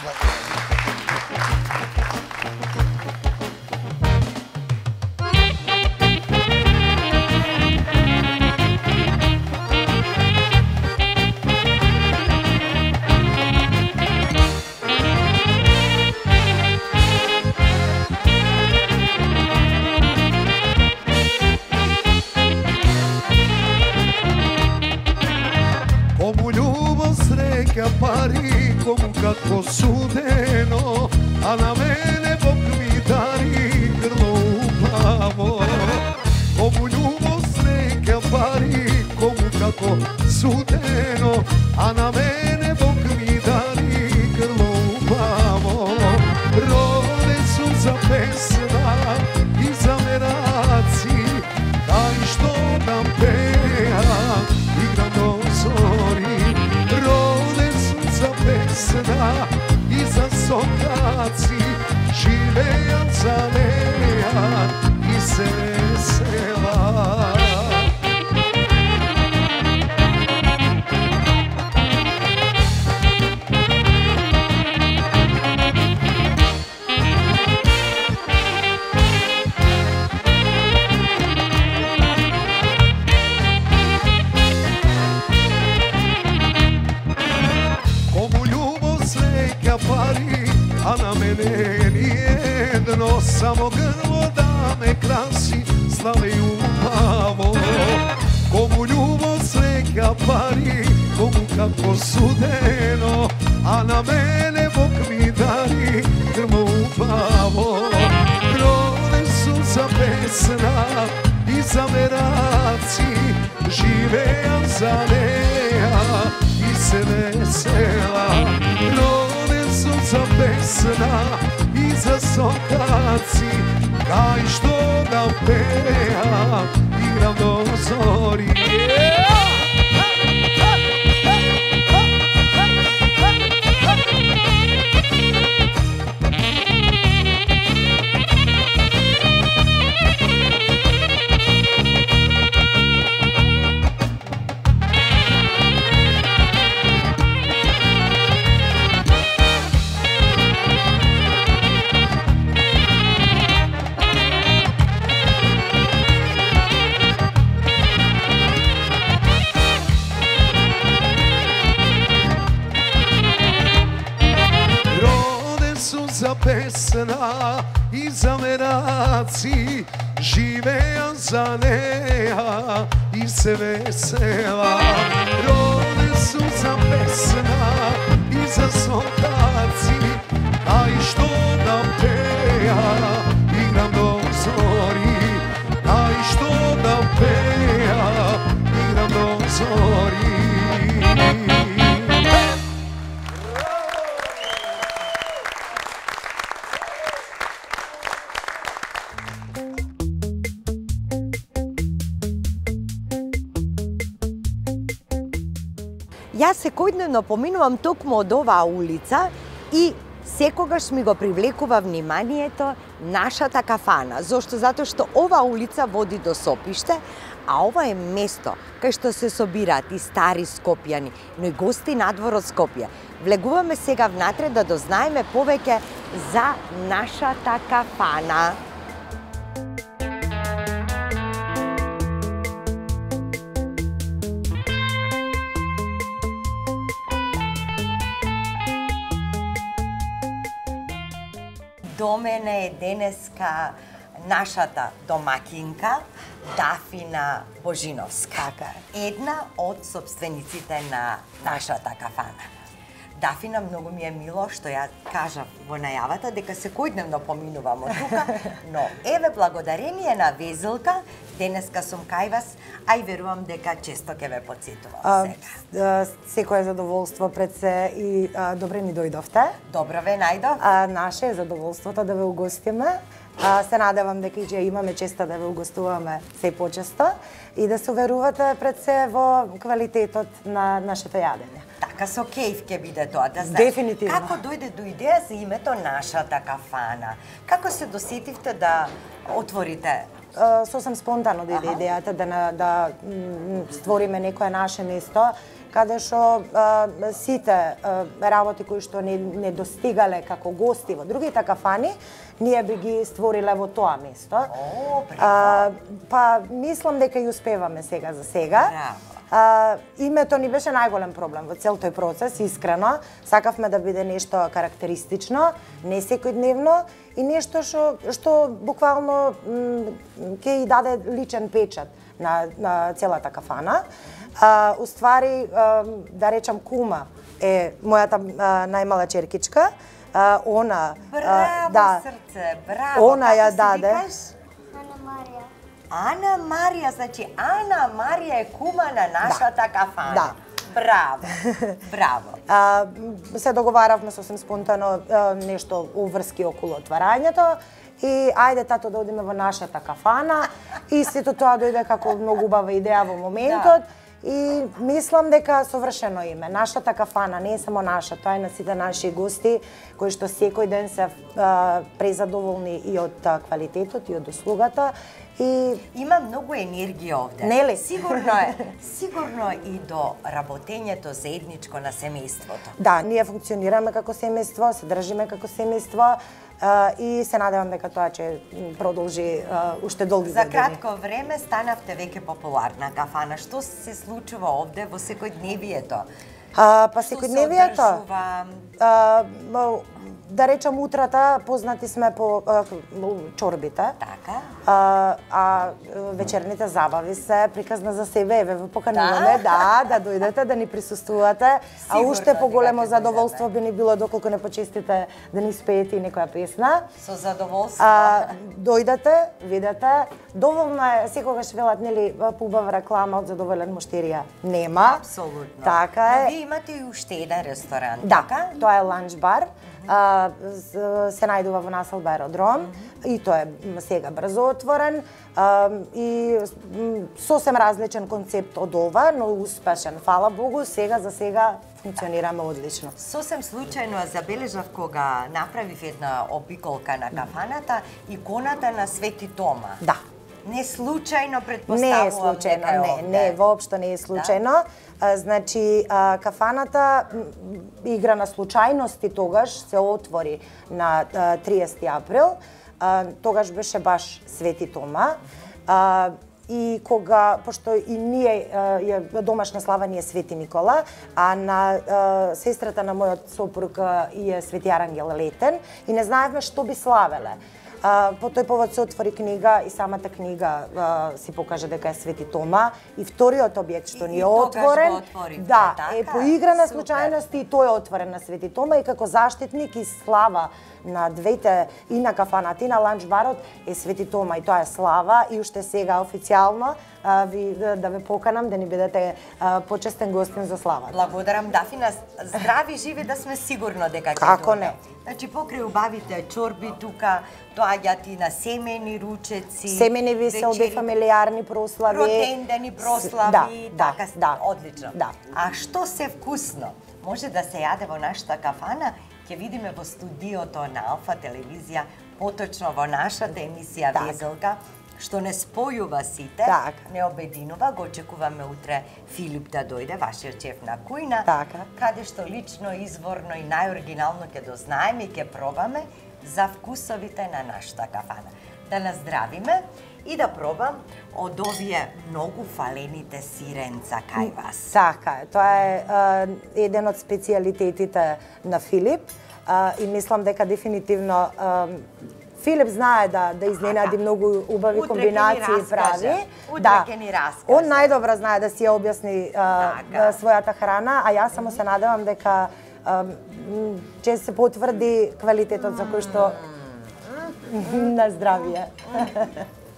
neka pari komu kako sudeno, a na mene Bog mi dari grlo upravo. Komu ljubost neka pari komu kako sudeno, a na mene Bog mi dari grlo upravo. Rode su za pesma i za meraci, daj što nam pejam, igram do zori. Rode su za pesma i za sokaci, živejan, zalejan i se vesela. Pari, a na mene nijedno, samo grlo da me krasi, slave i upavo. Komu ljubost neka pari, komu kako sudeno, a na mene Bog mi dari grlo upavo. Rode su za pesna i za meraci, živejan, zaleja i se vesela. Za pesna i za sokaci, kaj što da pejam, igram do zori. Za pesna i za meraci, živejan, zaleja i se vesela. Rode su za pesna i za sokaci, a i što da peja, igram do zori. A i što da peja, igram do zori. Јас секојдневно поминувам токму од оваа улица и секогаш ми го привлекува вниманието нашата кафана. Зошто? Затоа што оваа улица води до Сопиште, а ова е место кај што се собираат и стари скопјани, но и гости надвор од Скопје. Влегуваме сега внатре да дознаеме повеќе за нашата кафана. До мене е денеска нашата домакинка Дафина Божиновска, една од собствениците на нашата кафана. Дафина, многу ми е мило што ја кажа во најавата дека секојдневно поминувамо тука, но еве благодарение на Везелка денеска сум кај вас, а и верувам дека често ќе ве потсетувам сега. Секое задоволство пред се и а, добре ни дојдовте. Добро ве најдов. А, наше е задоволството да ве угостиме. А, се надевам дека ќе имаме честа да ве угостуваме се почесто и да се уверувате пред се во квалитетот на нашето јадење. Така со кејф ќе биде тоа, да знаеш. Дефинитивно. Како дојде до идеја за името нашата кафана? Како се досетивте да отворите? Сосем спонтано дојде идејата да, да створиме некое наше место, каде што сите а, работи кои што не, не достигале како гости во другите кафани, ние би ги створиле во тоа место. О, а, па мислам дека и успеваме сега за сега. Браво. А, името ни беше најголем проблем во цел тој процес, искрено. Сакавме да биде нешто карактеристично, не секојдневно и нешто што, што буквално ќе и даде личен печат на, на целата кафана. А, уствари, а, да речам, кума е мојата а, најмала черкичка. А, она... Браво, да, срце, браво. Она ја Како се даде. викаш? Ана Марија. Ана Марија, значи Ана Марија е кума на нашата кафана. Да. Браво, браво. А, се договаравме сосем спонтано а, нешто уврски околу отварањето и ајде тато да одиме во нашата кафана и сето тоа дојде како многу убава идеја во моментот. Да. И мислам дека совршено име. Нашата кафана не е само наша, тоа е на сите наши гости кои што секој ден се а, презадоволни и од а, квалитетот и од услугата. И има многу енергија овде. Нели? Сигурно е, сигурно и до работењето заедничко на семејството. Да, ние функционираме како семејство, се држиме како семејство. Uh, и се надевам дека тоа ќе продолжи uh, уште долги За години. За кратко време станавте веќе популарна кафана. Што се случува овде во секојдневието? Uh, па секојдневието? Uh, да речам утрата познати сме по uh, чорбите. Така. Uh, а вечерните забави се приказна за себе. Еве ве покануваме да, да дојдете, да ни присуствувате. А уште поголемо задоволство би ни било доколку не почестите да ни спеете и некоја песна. Со задоволство. А, дојдете, видете. Доволно е, секогаш велат, нели, поубава реклама од задоволен муштерија. Нема. Апсолутно. Така е. Но вие имате и уште еден ресторан, да, така? Тоа е ланч бар. А, се најдува во населба Аеродром mm -hmm. и тоа е сега брзо отворен а, и сосем различен концепт од ова, но успешен. Фала Богу, сега за сега функционираме одлично. Сосем случајно забележав кога направив една обиколка на кафаната иконата на Свети Тома. Да. Не случајно предпоставувам. Не е случајно, не, не, воопшто не е случајно. Да? Значи, кафаната игра на случајности тогаш се отвори на триесети април. Тогаш беше баш Свети Тома. И кога, пошто и ние, е домашна слава ни е Свети Никола, а на сестрата на мојот сопруг е Свети Арангел Летен, и не знаевме што би славеле. Uh, по тој повод се отвори книга и самата книга uh, си покажа дека е Свети Тома и вториот објект што ни е отворен, отворите, да, така? е по игра на случајности и тој е отворен на Свети Тома и како заштитник и слава на двете, и на кафаната и на ланч барот е Свети Тома и тоа е слава и уште сега официјално uh, ви, да, да ве поканам да ни бидете uh, почестен гостин за славата. Благодарам, Дафина. Здрави живи да сме сигурно дека ќе Како не? Значи, покрај убавите чорби тука, доаѓаат и на семени ручеци, семени веселби, фамилиарни прослави, родендени прослави, да, така, да, одлично. Да. А што се вкусно може да се јаде во нашата кафана, ќе видиме во студиото на Алфа телевизија, поточно во нашата емисија так. Везелка, што не спојува сите, так. Не обединува. Го очекуваме утре Филип да дојде, вашиот шеф на кујна, така. Каде што лично, изворно и најоригинално ќе дознаеме и ќе пробаме за вкусовите на нашата кафана. Да наздравиме и да пробам од овие многу фалените сиренца кај вас. Така е, тоа е uh, еден од специјалитетите на Филип uh, и мислам дека дефинитивно uh, Филип знае да да изненади многу убави утре комбинации прави. Утре да. ќе ни раскаже. Он најдобро знае да си ја објасни uh, својата храна, а јас само се надевам дека uh, ќе се потврди квалитетот за кој што на здравје.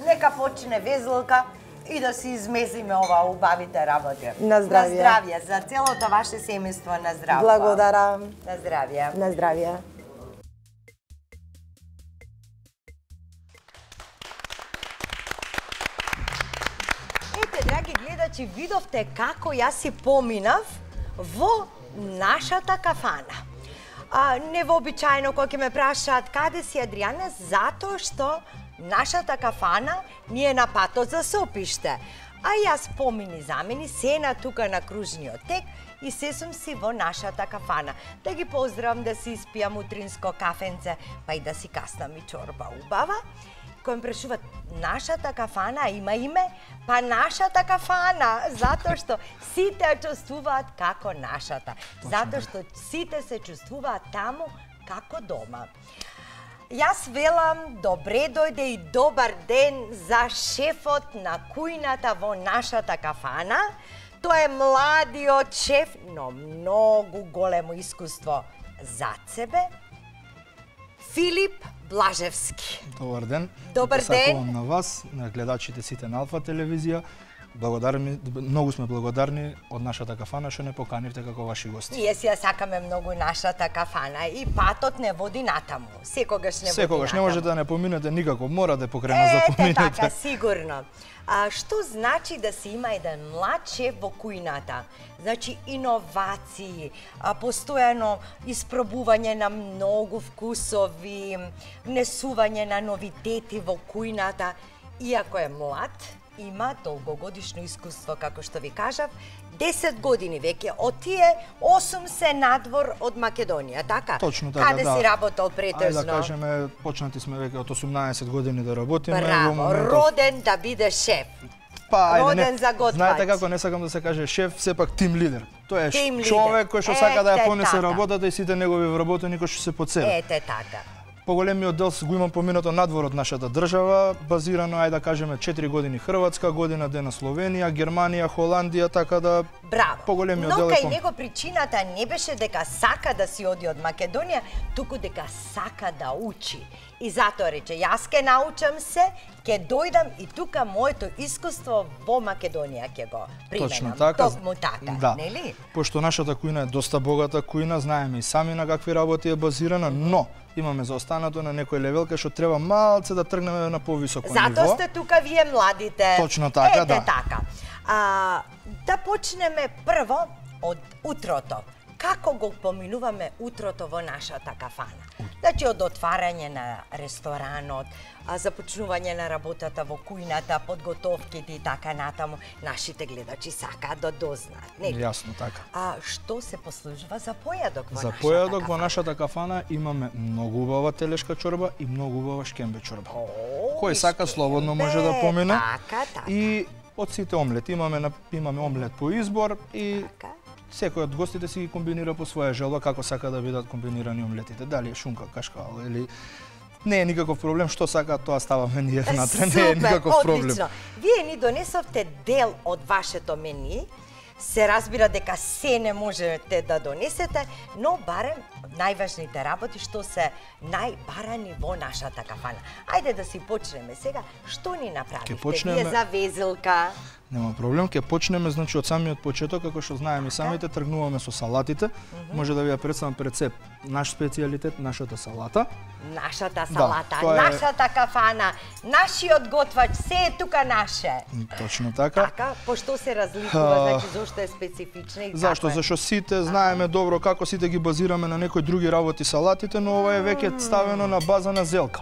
Нека почне Везелка и да си измезиме ова убавите работи. На здравје. На здравје за целото ваше семејство, на здравје. Благодарам. На здравје. На здравје. Ете, драги гледачи, видовте како јас си поминав во нашата кафана. А, невообичаено кога ќе ме прашаат каде си Адријана, затоа што нашата кафана ни е на патот за Сопиште. А јас помини замени се на тука на кружниот тек и се сум си во нашата кафана. Да ги поздравам, да си испијам утринско кафенце, па и да си каснам и чорба убава. Кој ме прашуваат, нашата кафана има име? Па нашата кафана, затоа што сите ја чувствуваат како нашата. Затоа што сите се чувствуваат таму како дома. Јас велам, добре дојде и добар ден за шефот на кујната во нашата кафана. Тоа е младиот шеф, но многу големо искуство зад себе. Филип Блажевски. Добар ден. Добар ден. Сакувам на вас, на гледачите сите на Алфа телевизија. Благодарни, многу сме благодарни од нашата кафана што не поканивте како ваши гости. Ние си ја сакаме многу нашата кафана и патот не води натаму. Секогаш не води Секогаш не натаму. можете да не поминете никако, мора да покрена за Ете поминете. така, сигурно. А што значи да се има еден млад шеф во кујната? Значи иновации, а, постојано испробување на многу вкусови, внесување на новитети во кујната. Иако е млад, има долгогодишно искуство, како што ви кажав, десет години веќе, од тие осум се надвор од Македонија, така? Точно така, Каде да. си работел претежно? Ајде да кажеме, почнати сме веќе од осумнаесет години да работиме. Браво, моментов... роден да биде шеф. Па, ајде, роден не, за готвач. знаете како не сакам да се каже шеф, сепак тим лидер. Тоа е Тим човек лидер. кој што сака да ја Ете понесе така. работата и сите негови вработени кои што се под себе. Ете така. Поголемиот дел го имам поминато надвор од нашата држава, базирано, ајде да кажеме, четири години Хрватска, година дена Словенија, Германија, Холандија, така да Браво. поголемиот Но дел е кај пом... него причината не беше дека сака да си оди од Македонија, туку дека сака да учи. И затоа рече, јас ке научам се, ке дојдам и тука моето искуство во Македонија ќе го применам. Точно така. Токму така, Да. нели? Пошто нашата кујна е доста богата кујна, знаеме и сами на какви работи е базирана, но имаме заостанато на некој левел кај што треба малце да тргнеме на повисоко ниво. Затоа сте тука вие младите. Точно така, Ете да. така. А, да почнеме прво од утрото. Како го поминуваме утрото во нашата кафана? Значи, од отварање на ресторанот, а, започнување на работата во кујната, подготовките и така натаму, нашите гледачи сакаат да дознаат, нели? Јасно така. А што се послужува за појадок во За нашата појадок во кафана? нашата кафана имаме многу убава телешка чорба и многу убава шкембе чорба. Кој сака слободно може да помине. Така, така. И од сите омлети имаме на- имаме омлет по избор и Така. секој од гостите си ги комбинира по своја желба како сака да бидат комбинирани омлетите. Дали е шунка, кашкал или не е никаков проблем, што сака тоа ставаме ние внатре, не е никаков проблем. Одлично. Вие ни донесовте дел од вашето мени. Се разбира дека се не можете да донесете, но барем најважните работи што се најбарани во нашата кафана. Ајде да си почнеме сега. Што ни направивте? Ке почнеме- Вие за везилка. Нема проблем, ќе почнеме значи од самиот почеток, како што знаеме и самите, тргнуваме со салатите. Може да ви ја представам пред се наш специјалитет, нашата салата. Нашата Да, салата, тоа е- нашата кафана, нашиот готвач, се е тука наше. Точно така. Така, по што се разликува, А, значи зошто е специфична и Зашто? како е? Зашто сите знаеме добро како сите ги базираме на некои други работи салатите, но ова е веќе ставено на база на зелка.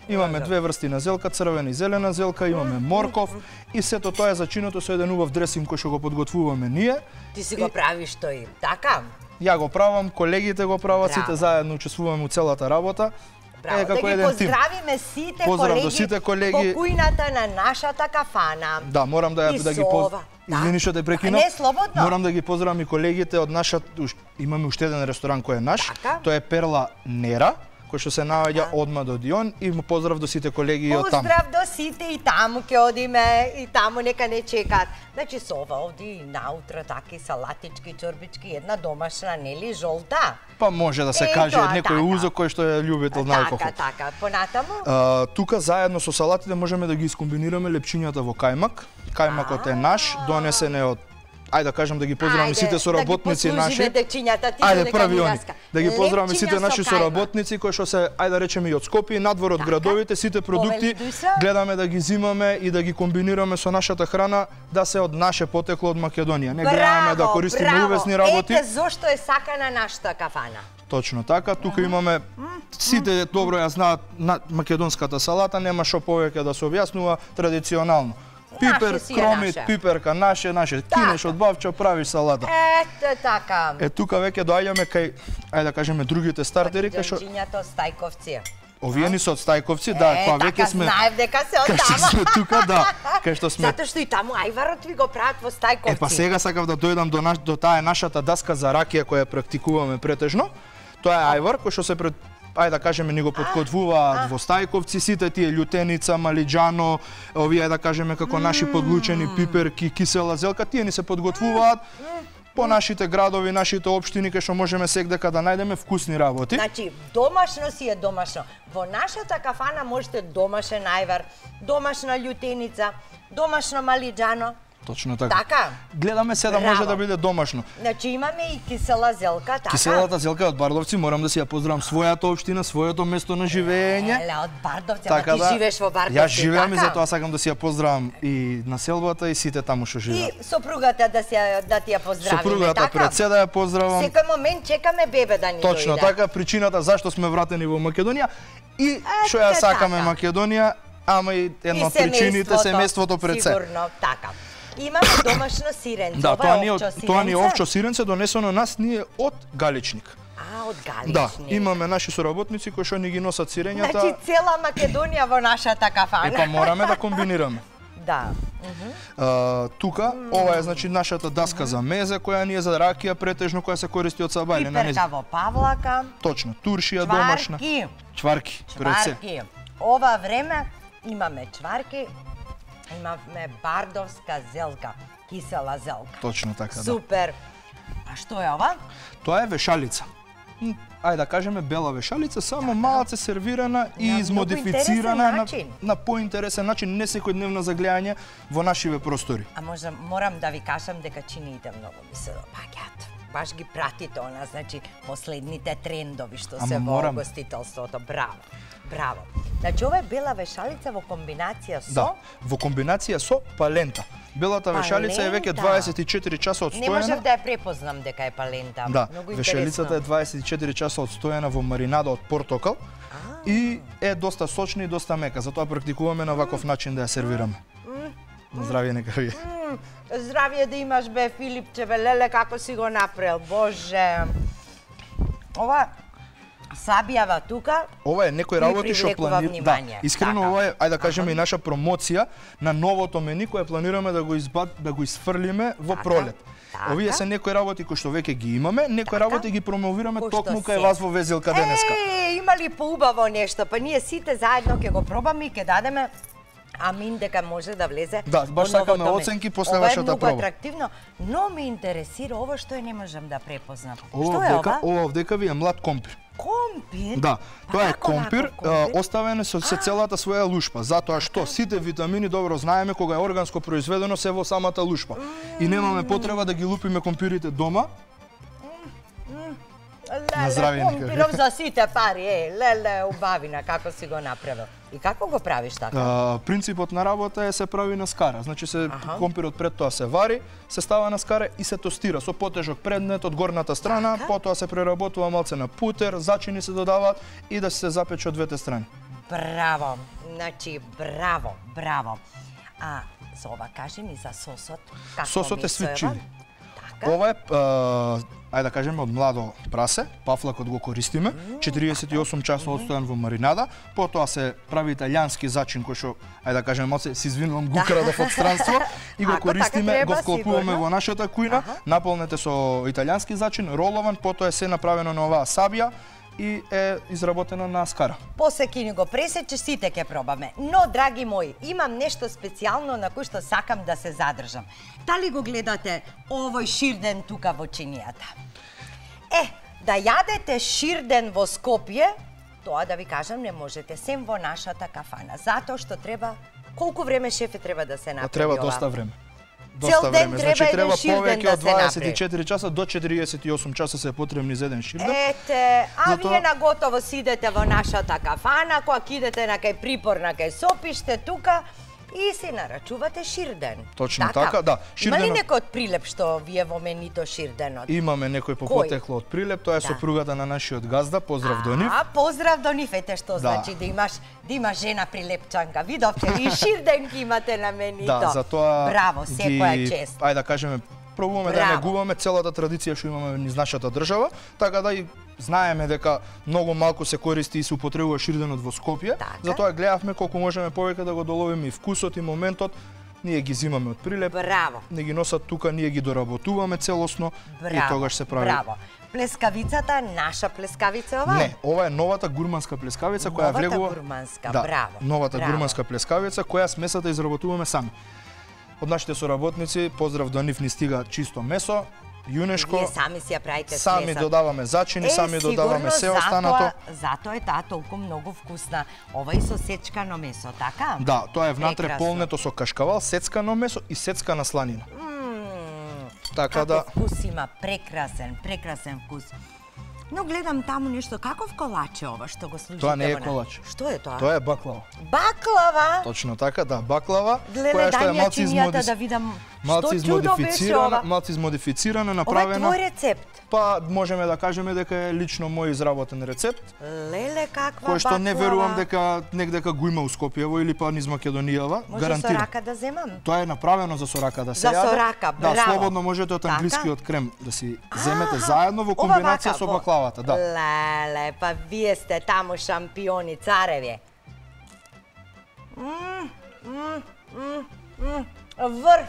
Имаме две врсти на зелка, црвена и зелена зелка, имаме морков и сето тоа е зачинето со еден убав дресинг кој што го подготвуваме ние. Ти си го правиш тој, така? Ја го правам, колегите го прават, Браво. сите заедно учествуваме у целата работа. Браво, Е, како да ги еден тим. поздравиме сите Поздрав колеги, до сите колеги. во кујната на нашата кафана. Да, морам да, И ја, да ги со поз... ова, да. Извини што те прекинав. Не, слободно. Морам да ги поздравам и колегите од нашата, уш- имаме уште еден ресторан кој е наш. Така. Тоа е Перла Нера, кој што се наоѓа одма до Дион и му поздрав до сите колеги од таму. Поздрав до сите и таму ќе одиме, и таму нека не чекаат. Значи со ова овди наутро таки салатички, чорбички, една домашна, нели, жолта. Па може да се Е, каже тоа, некој така. узок кој што е љубител на алкохол. Така, така, понатаму? А, тука заедно со салатите можеме да ги искомбинираме лепчињата во кајмак. Кајмакот е наш, донесен е од ајде да кажам да ги поздравам и сите соработници наши. Да ги дечињата, ти Ајде нека први ни они. раска. Да ги поздравам и Лепчиња сите со наши кајмак. соработници кои што се ајде да речеме и од Скопје и надвор од градовите, сите продукти Повели душа. гледаме да ги зимаме и да ги комбинираме со нашата храна да се од наше потекло од Македонија. Не гледаме да користиме браво. увесни работи. Ете зошто е сакана нашата кафана. Точно така, тука имаме сите добро ја знаат на македонската салата, нема што повеќе да се објаснува традиционално. Пипер, Наше си е кромит, наше. пиперка, наше, наше, кинеш од бавчо, правиш салата. Ете така. Е, тука веќе доаѓаме кај, ајде да кажеме, другите стартери, кај што Дончињата стајковци. овие ни се од Стајковци, да, е, па така веќе сме знаев дека се од кај што тама. сме тука, да, кај што сме. Затоа што и таму ајварот ви го прават во Стајковци. Е, па сега сакав да дојдам до наш, до таа е нашата даска за ракија која ја практикуваме претежно. Тоа е ајвар кој што се пред ајде да кажеме ни го подкотвуваат во Стајковци, сите тие љутеница, малиџано, овие да кажеме како наши подлучени пиперки, кисела зелка, тие ни се подготвуваат по нашите градови, нашите општини, кај што можеме секдека да најдеме вкусни работи. Значи, домашно си е домашно. Во нашата кафана можете домашен ајвар, домашна љутеница, домашно малиџано. Точно така. Така? Гледаме се да може да биде домашно. Значи имаме и кисела зелка, така? Киселата зелка од Бардовци, морам да си ја поздравам својата општина, своето место на живеење. Еле, од Бардовци, така ама ти да, живееш во Бардовци, Јас живеам така? и затоа сакам да си ја поздравам и населбата и сите таму што живеат. И сопругата да, си, да ти ја поздравиме, Сопругата така? пред се да ја поздравам. Секој момент чекаме бебе да ни Точно дојде. така, причината зашто сме вратени во Македонија и што ја Ете сакаме така. Македонија, ама и една од причините семејството пред се. Сигурно, така. Имаме домашно сиренце. Да, Ова тоа е ни е овчо од- тоа ни е сиренце? овчо сиренце донесено нас ние од Галичник. А, од Галичник. Да, имаме наши соработници кои што ни ги носат сирењата. Значи цела Македонија во нашата кафана. Епа мораме да комбинираме. Да. А, тука, ова е значи нашата даска за мезе, која ни е за ракија претежно, која се користи од Сабајле на Пиперка во павлака. Точно, туршија домашна. Чварки. Чварки, пред се. Чварки. Ова време имаме чварки, имаме бардовска зелка, кисела зелка. Точно така, да. Супер. А што е ова? Тоа е вешалица. М, Ајде да кажеме бела вешалица, само малце сервирана и На измодифицирана многу на, интересен на поинтересен начин, не секојдневно за гледање во нашиве простори. А можам, морам да ви кажам дека чиниите многу ми се допаѓаат. Баш ги пратите она, значи, последните трендови што Ама се во морам. гостителството. Браво, браво. Значи, ова е бела вешалица во комбинација со... Да, во комбинација со палента. Белата вешалица е веќе Палента. дваесет и четири часа Не одстоена. можев да ја препознам дека е палента. Да, Многу вешалицата е интересно. дваесет и четири часа одстоена во маринада од портокал и е доста сочна и доста мека, затоа практикуваме на ваков начин да ја сервираме. На здравје нека ви. М, Здравје да имаш, бе, Филипче, бе, леле, како си го направил, боже. Ова сабијава тука. Ова е некои ми работи што привлекува планираме. Да, внимание. искрено Така. ова е, ајде да кажеме и наша промоција на новото мени кое планираме да го избад, да го изфрлиме во Така. пролет. Така. Овие се некои работи кои што веќе ги имаме, некои работи ги промовираме Кои што токму се. кај вас во Везилка денеска. Е, има ли поубаво нешто? Па ние сите заедно ќе го пробаме и ќе дадеме амин дека може да влезе. Да, баш во сакаме новото меню. оценки после ова вашата Ова е многу проба. атрактивно, но ме интересира ова што е не можам да препознам. Ова Што е овдека, ова? ова овдека ви е млад компир. Компир? Да, тоа е како компир, ваков компир? а, оставен е со се целата своја лушпа, затоа што сите витамини добро знаеме кога е органско произведено се во самата лушпа. И немаме потреба да ги лупиме компирите дома. На здравје, Леле, нека ви. компиров за сите пари, е, леле, убавина, како си го направил. И како го правиш така? А, принципот на работа е се прави на скара. Значи се Аха. компирот пред тоа се вари, се става на скара и се тостира со потежок предмет од горната страна, Така. потоа се преработува малце на путер, зачини се додаваат и да се запече од двете страни. Браво, значи, браво, браво. А, за ова кажи ми за сосот. Како Сосот е месо свит ова? чили. Така? Ова е, а, ајде да кажеме, од младо прасе, пафлакот го користиме, четириесет и осум часа одстојан во маринада, потоа се прави италијански зачин кој што, ајде да кажеме, малце се извинувам, го крадов од странство и го Ако така користиме, треба, го вклопуваме сигурно. во нашата кујна, наполнете со италијански зачин, ролован, потоа е се направено на оваа сабија и е изработено на скара. После ќе ни го пресече, сите ќе пробаме. Но, драги мои, имам нешто специјално на кој што сакам да се задржам. Дали го гледате овој ширден тука во чинијата? Е, да јадете ширден во Скопје, тоа да ви кажам не можете, сем во нашата кафана. Затоа што треба, колку време шефе треба да се направи Треба ова? доста време. Цел Доста ден време. треба Значи еден треба ширден повеќе да од се дваесет и направи. четири часа до четириесет и осум часа се потребни за еден ширден. Ете, а Затоа- вие наготово си идете во нашата кафана, кога ќе идете на кај припор, на кај сопиште тука и си нарачувате ширден. Точно така, да. Има ли Ширденот- некој од прилеп што вие во менито ширденот? Имаме некој по Кој? потекло од Прилеп, тоа е Да. сопругата на нашиот газда, поздрав до нив. А, поздрав до нив, ете што Да. значи да имаш да имаш жена прилепчанка. Видовте ли и ширденки имате на менито. Да, затоа Браво, секоја ги- чест. Ајде да кажеме, пробуваме да Браво. негуваме целата традиција што имаме низ нашата држава, така да и знаеме дека многу малку се користи и се употребува ширденот во Скопје, Така. затоа гледавме колку можеме повеќе да го доловиме и вкусот и моментот ние ги зимаме од Прилеп. Браво. Не ги носат тука, ние ги доработуваме целосно. Браво. И тогаш се прави. Браво. Плескавицата, наша плескавица ова? Не, ова е новата гурманска плескавица која Новата влегува. гурманска, да, браво. Новата браво. гурманска плескавица која смесата изработуваме сами. Од нашите соработници, поздрав до нив, ни стига чисто месо, јунешко. Вие сами си ја правите Сами смесата. додаваме зачини, е, сами додаваме се останато. Затоа, затоа е таа толку многу вкусна. Ова и со сечкано месо, така? Да, тоа е внатре Прекрасно. полнето со кашкавал, сецкано месо и сецкана сланина. Така Каков да вкус има, прекрасен, прекрасен вкус. Но гледам таму нешто, каков колач е ова што го служите? Тоа не е во на- колач. Што е тоа? Тоа е баклава. Баклава? Точно така, да, баклава, Леле, која што дај е ми ја малци чинијата измодис... да видам малци што чудо беше измодифицирана, ова. малци измодифицирана, Ова е направена. твој рецепт? Па можеме да кажеме дека е лично мој изработен рецепт, Леле, каква кој што не баклава. верувам дека негдека го има у Скопјево или па низ Македонијава, Може гарантирам. со рака да земам? Тоа е направено за сорака да се За јаде. сорака, Да, браво. слободно можете од Така? англискиот крем да си земете заедно во комбинација со баклавата, да. Леле, па вие сте таму шампиони, цареви. Мм, мм, мм, мм. Врв,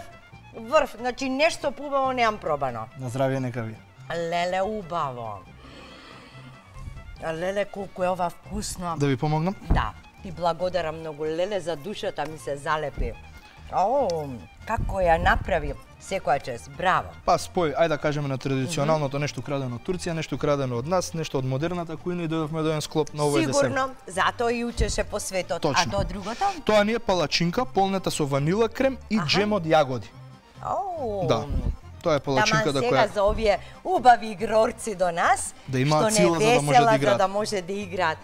врв, значи нешто поубаво неам пробано. На здравје нека ви. Леле, убаво. Леле, колку е ова вкусно. Да ви помогнам? Да, ти благодарам многу. Леле, за душата ми се залепи. О, како ја направи, секоја чест, браво. Па спој, ајде да кажеме на традиционалното, нешто крадено од Турција, нешто крадено од нас, нешто од модерната кујна и дојдовме до еден склоп на овој десерт. Сигурно, затоа и учеше по светот. Точно. А тоа другото? Тоа ни е палачинка, полнета со ванила крем и джем од јагоди. Оу. Да. Тоа е палачинка да Таман сега која за овие убави игрорци до нас, Да имаат што не сила за да може да весела, играат. за да може да играат.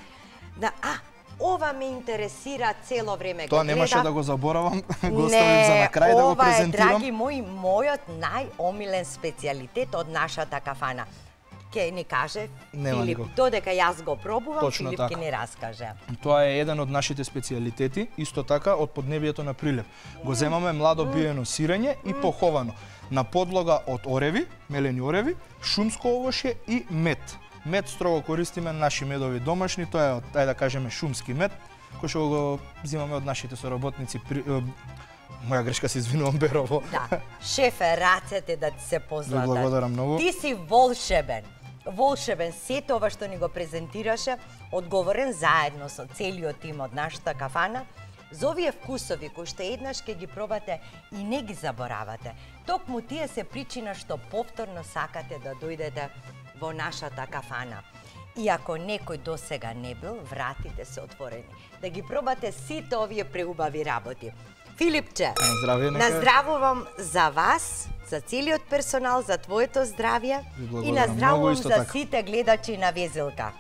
Да, а, ова ме интересира цело време. Тоа го немаше гледав. да го заборавам, го оставив за на крај да го ова е, презентирам. драги мои, мојот најомилен специјалитет од нашата кафана. Ке ни каже Нема Филип, никој. додека јас го пробувам, Точно Филип така. ќе ни раскаже. Тоа е еден од нашите специјалитети, исто така од поднебието на Прилеп. Го земаме младо биено сирење и поховано на подлога од ореви, мелени ореви, шумско овошје и мед. Мед строго користиме наши медови домашни, тоа е од, ајде да кажеме, шумски мед, кој што го земаме од нашите соработници. При, е, моја грешка, се извинувам, Берово. Да, шефе, рацете да ти се Ви позлатат. благодарам многу. Ти си волшебен. Волшебен, сето ова што ни го презентираше, одговорен заедно со целиот тим од нашата кафана, за овие вкусови кои што еднаш ќе ги пробате и не ги заборавате. Токму тие се причина што повторно сакате да дојдете во нашата кафана. И ако некој досега не бил, вратите се отворени. Да ги пробате сите овие преубави работи. Филипче, На здравје, нека е. наздравувам за вас, за целиот персонал, за твоето здравје Ви и благодарам наздравувам многу, исто за така. сите гледачи на Везелка.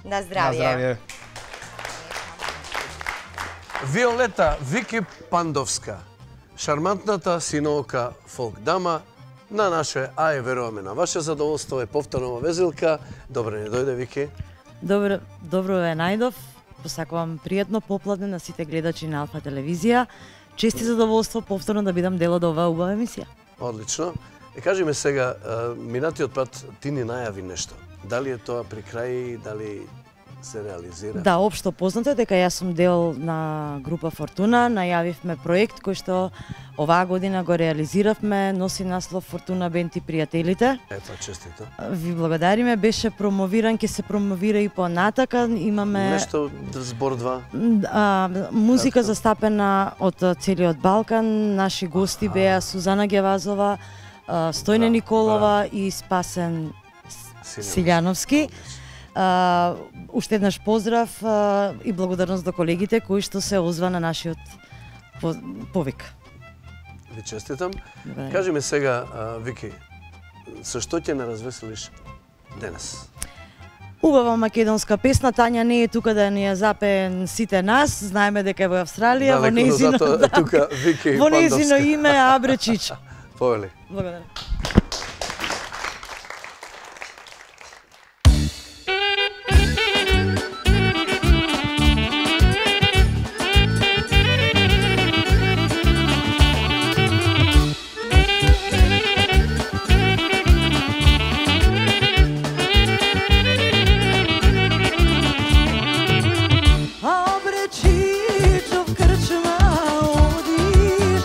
На На здравје. здравје. Виолета Вики Пандовска, шармантната синовка фолк дама на наше, а и веруваме на ваше задоволство, е повторно во Везелка. Добре не дојде, Вики. Добро, добро ве најдов. Посакувам пријатно попладне на сите гледачи на Алфа телевизија. Чести задоволство повторно да бидам дел од оваа убава емисија. Одлично. Е, кажи ме сега, а, минатиот пат ти ни најави нешто. Дали е тоа при крај, дали се реализира? Да, општо познато е дека јас сум дел на група Фортуна, најавивме проект кој што оваа година го реализиравме, носи наслов Фортуна Бенд и пријателите. Ето, честито. Ви благодариме, беше промовиран, ќе се промовира и понатака, имаме Нешто збор два. а, музика застапена од целиот Балкан, наши гости беа Сузана Гевазова, а, Стојне Николова и Спасен Силјановски. Uh, уште еднаш поздрав uh, и благодарност до колегите кои што се озва на нашиот по повик. Ви честитам. Благодарам. Кажи ми сега, а, Вики, со што ќе не развеселиш денес? Убава македонска песна, Тања не е тука да ни ја запее сите нас, знаеме дека е во Австралија, во Далеко, но нејзино, затоа е тука Вики во нејзино Пандовска. име Абре Чича. Повели. Благодарам. Абре Чичо в крчма одиш,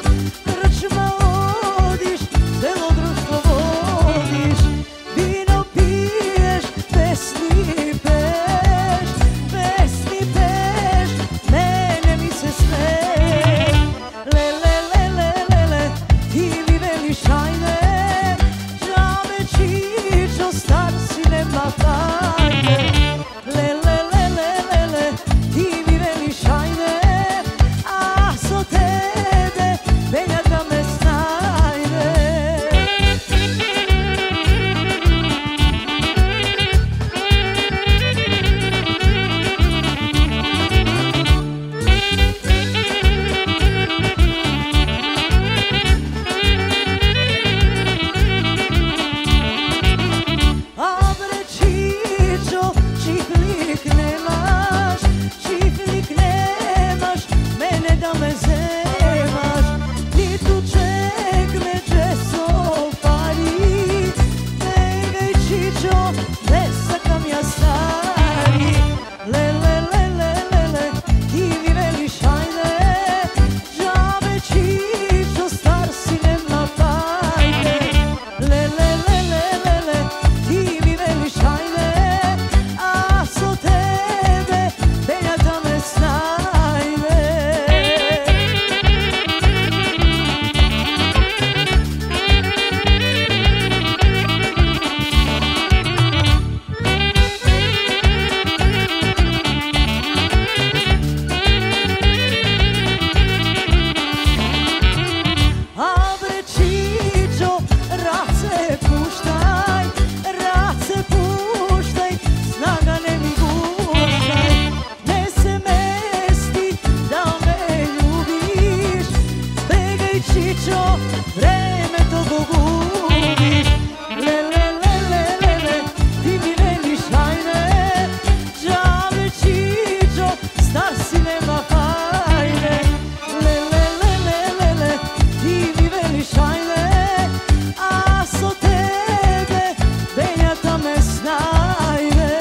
Чичо, не сакам ја стари. Леле, леле, леле, ти ми велиш ајде. Джабе Чичо, стар си нема пајде. Леле, леле, леле, ти ми велиш ајде. А со тебе бењата ме снајде. Абре Чичо, раце пуштај, раце пуштај, снага не ми гуштај. Не се мести да ме љубиш, бегај Чичо, времето го губиш. Леле, леле, леле, ти ми велиш ајде. Джабе Чичо, стар си нема пајде. Леле, леле, леле, ти ми велиш ајде. А со тебе бењата ме снајде.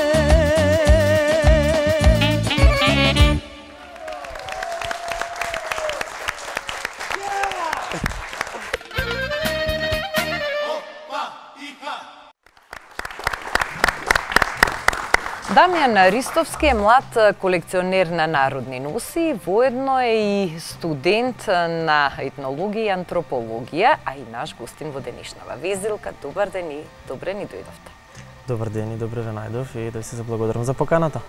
Дамјан Ристовски е млад колекционер на народни носи, воедно е и студент на етнологија и антропологија, а и наш гостин во денешнава везилка. Добар ден и добре ни дојдовте. Добар ден и добре ве најдов и да се заблагодарам за поканата.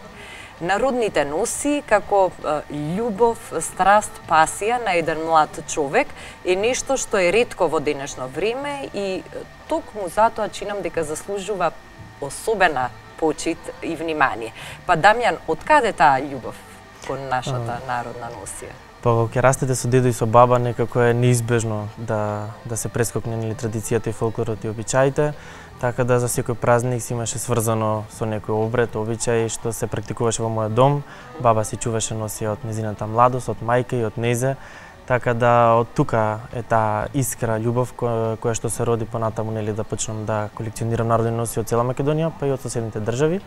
Народните носи како е, љубов, страст, пасија на еден млад човек е нешто што е ретко во денешно време и токму затоа чинам дека заслужува особена почит и внимание. Па Дамјан, откаде таа љубов кон нашата народна носија? Па кога ќе растете со дедо и со баба, некако е неизбежно да да се прескокне нели традицијата и фолклорот и обичаите, така да за секој празник си имаше сврзано со некој обред, обичај што се практикуваше во мојот дом. Баба си чуваше носија од незината младост, од мајка и од незе. Така да од тука е таа искра љубов која, која што се роди понатаму нели да почнам да колекционирам народни носи од цела Македонија, па и од соседните држави.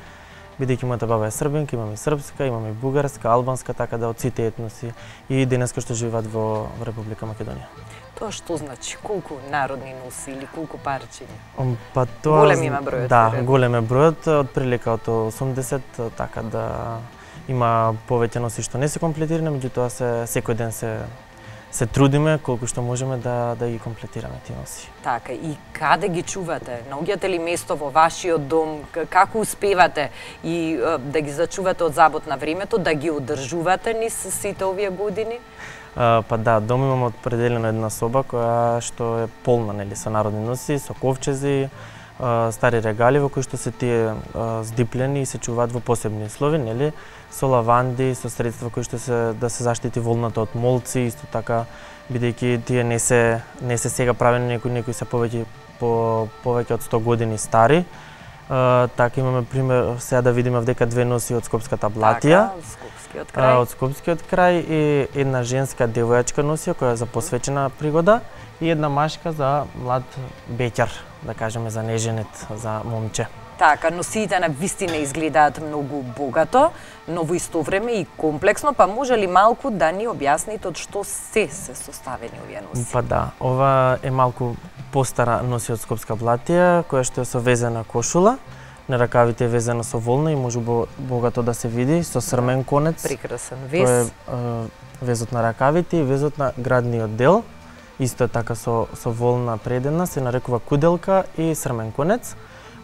Бидејќи мојата баба е србинка, имам и српска, имам и бугарска, албанска, така да од сите етноси и денеска што живеат во, во Република Македонија. Тоа што значи? Колку народни носи или колку парчиња? Па тоа голем има бројот. Да, голем е бројот, од прилика од осумдесет, така да има повеќе носи што не се комплетирани, меѓутоа се секој ден се се трудиме колку што можеме да да ги комплетираме тие носи. Така, и каде ги чувате? Наоѓате ли место во вашиот дом? Како успевате и е, да ги зачувате од забот на времето, да ги одржувате низ сите овие години? Uh, па да, дом имам определено една соба која што е полна нели со народни носи, со ковчези, uh, стари регали во кои што се тие uh, здиплени и се чуваат во посебни услови, нели, со лаванди, со средства кои што се да се заштити волната од молци, исто така бидејќи тие не се не се сега правени, некои некои се повеќе по повеќе од сто години стари. Uh, така имаме пример сега да видиме вдека две носи од Скопската блатија. Така, од Скопскиот крај. Uh, од Скопскиот крај и една женска девојачка носија која е за посветена пригода и една машка за млад беќар, да кажеме за неженет, за момче. Така, носиите на вистина изгледаат многу богато, но во исто време и комплексно, па може ли малку да ни објасните од што се се составени овие носи? Па да, ова е малку постара носи од Скопска блатија, која што е со везена кошула, на ракавите е везена со волна и може богато да се види, со срмен конец. Прекрасен вез. Кој е везот на ракавите и везот на градниот дел, исто е така со, со волна предена, се нарекува куделка и срмен конец.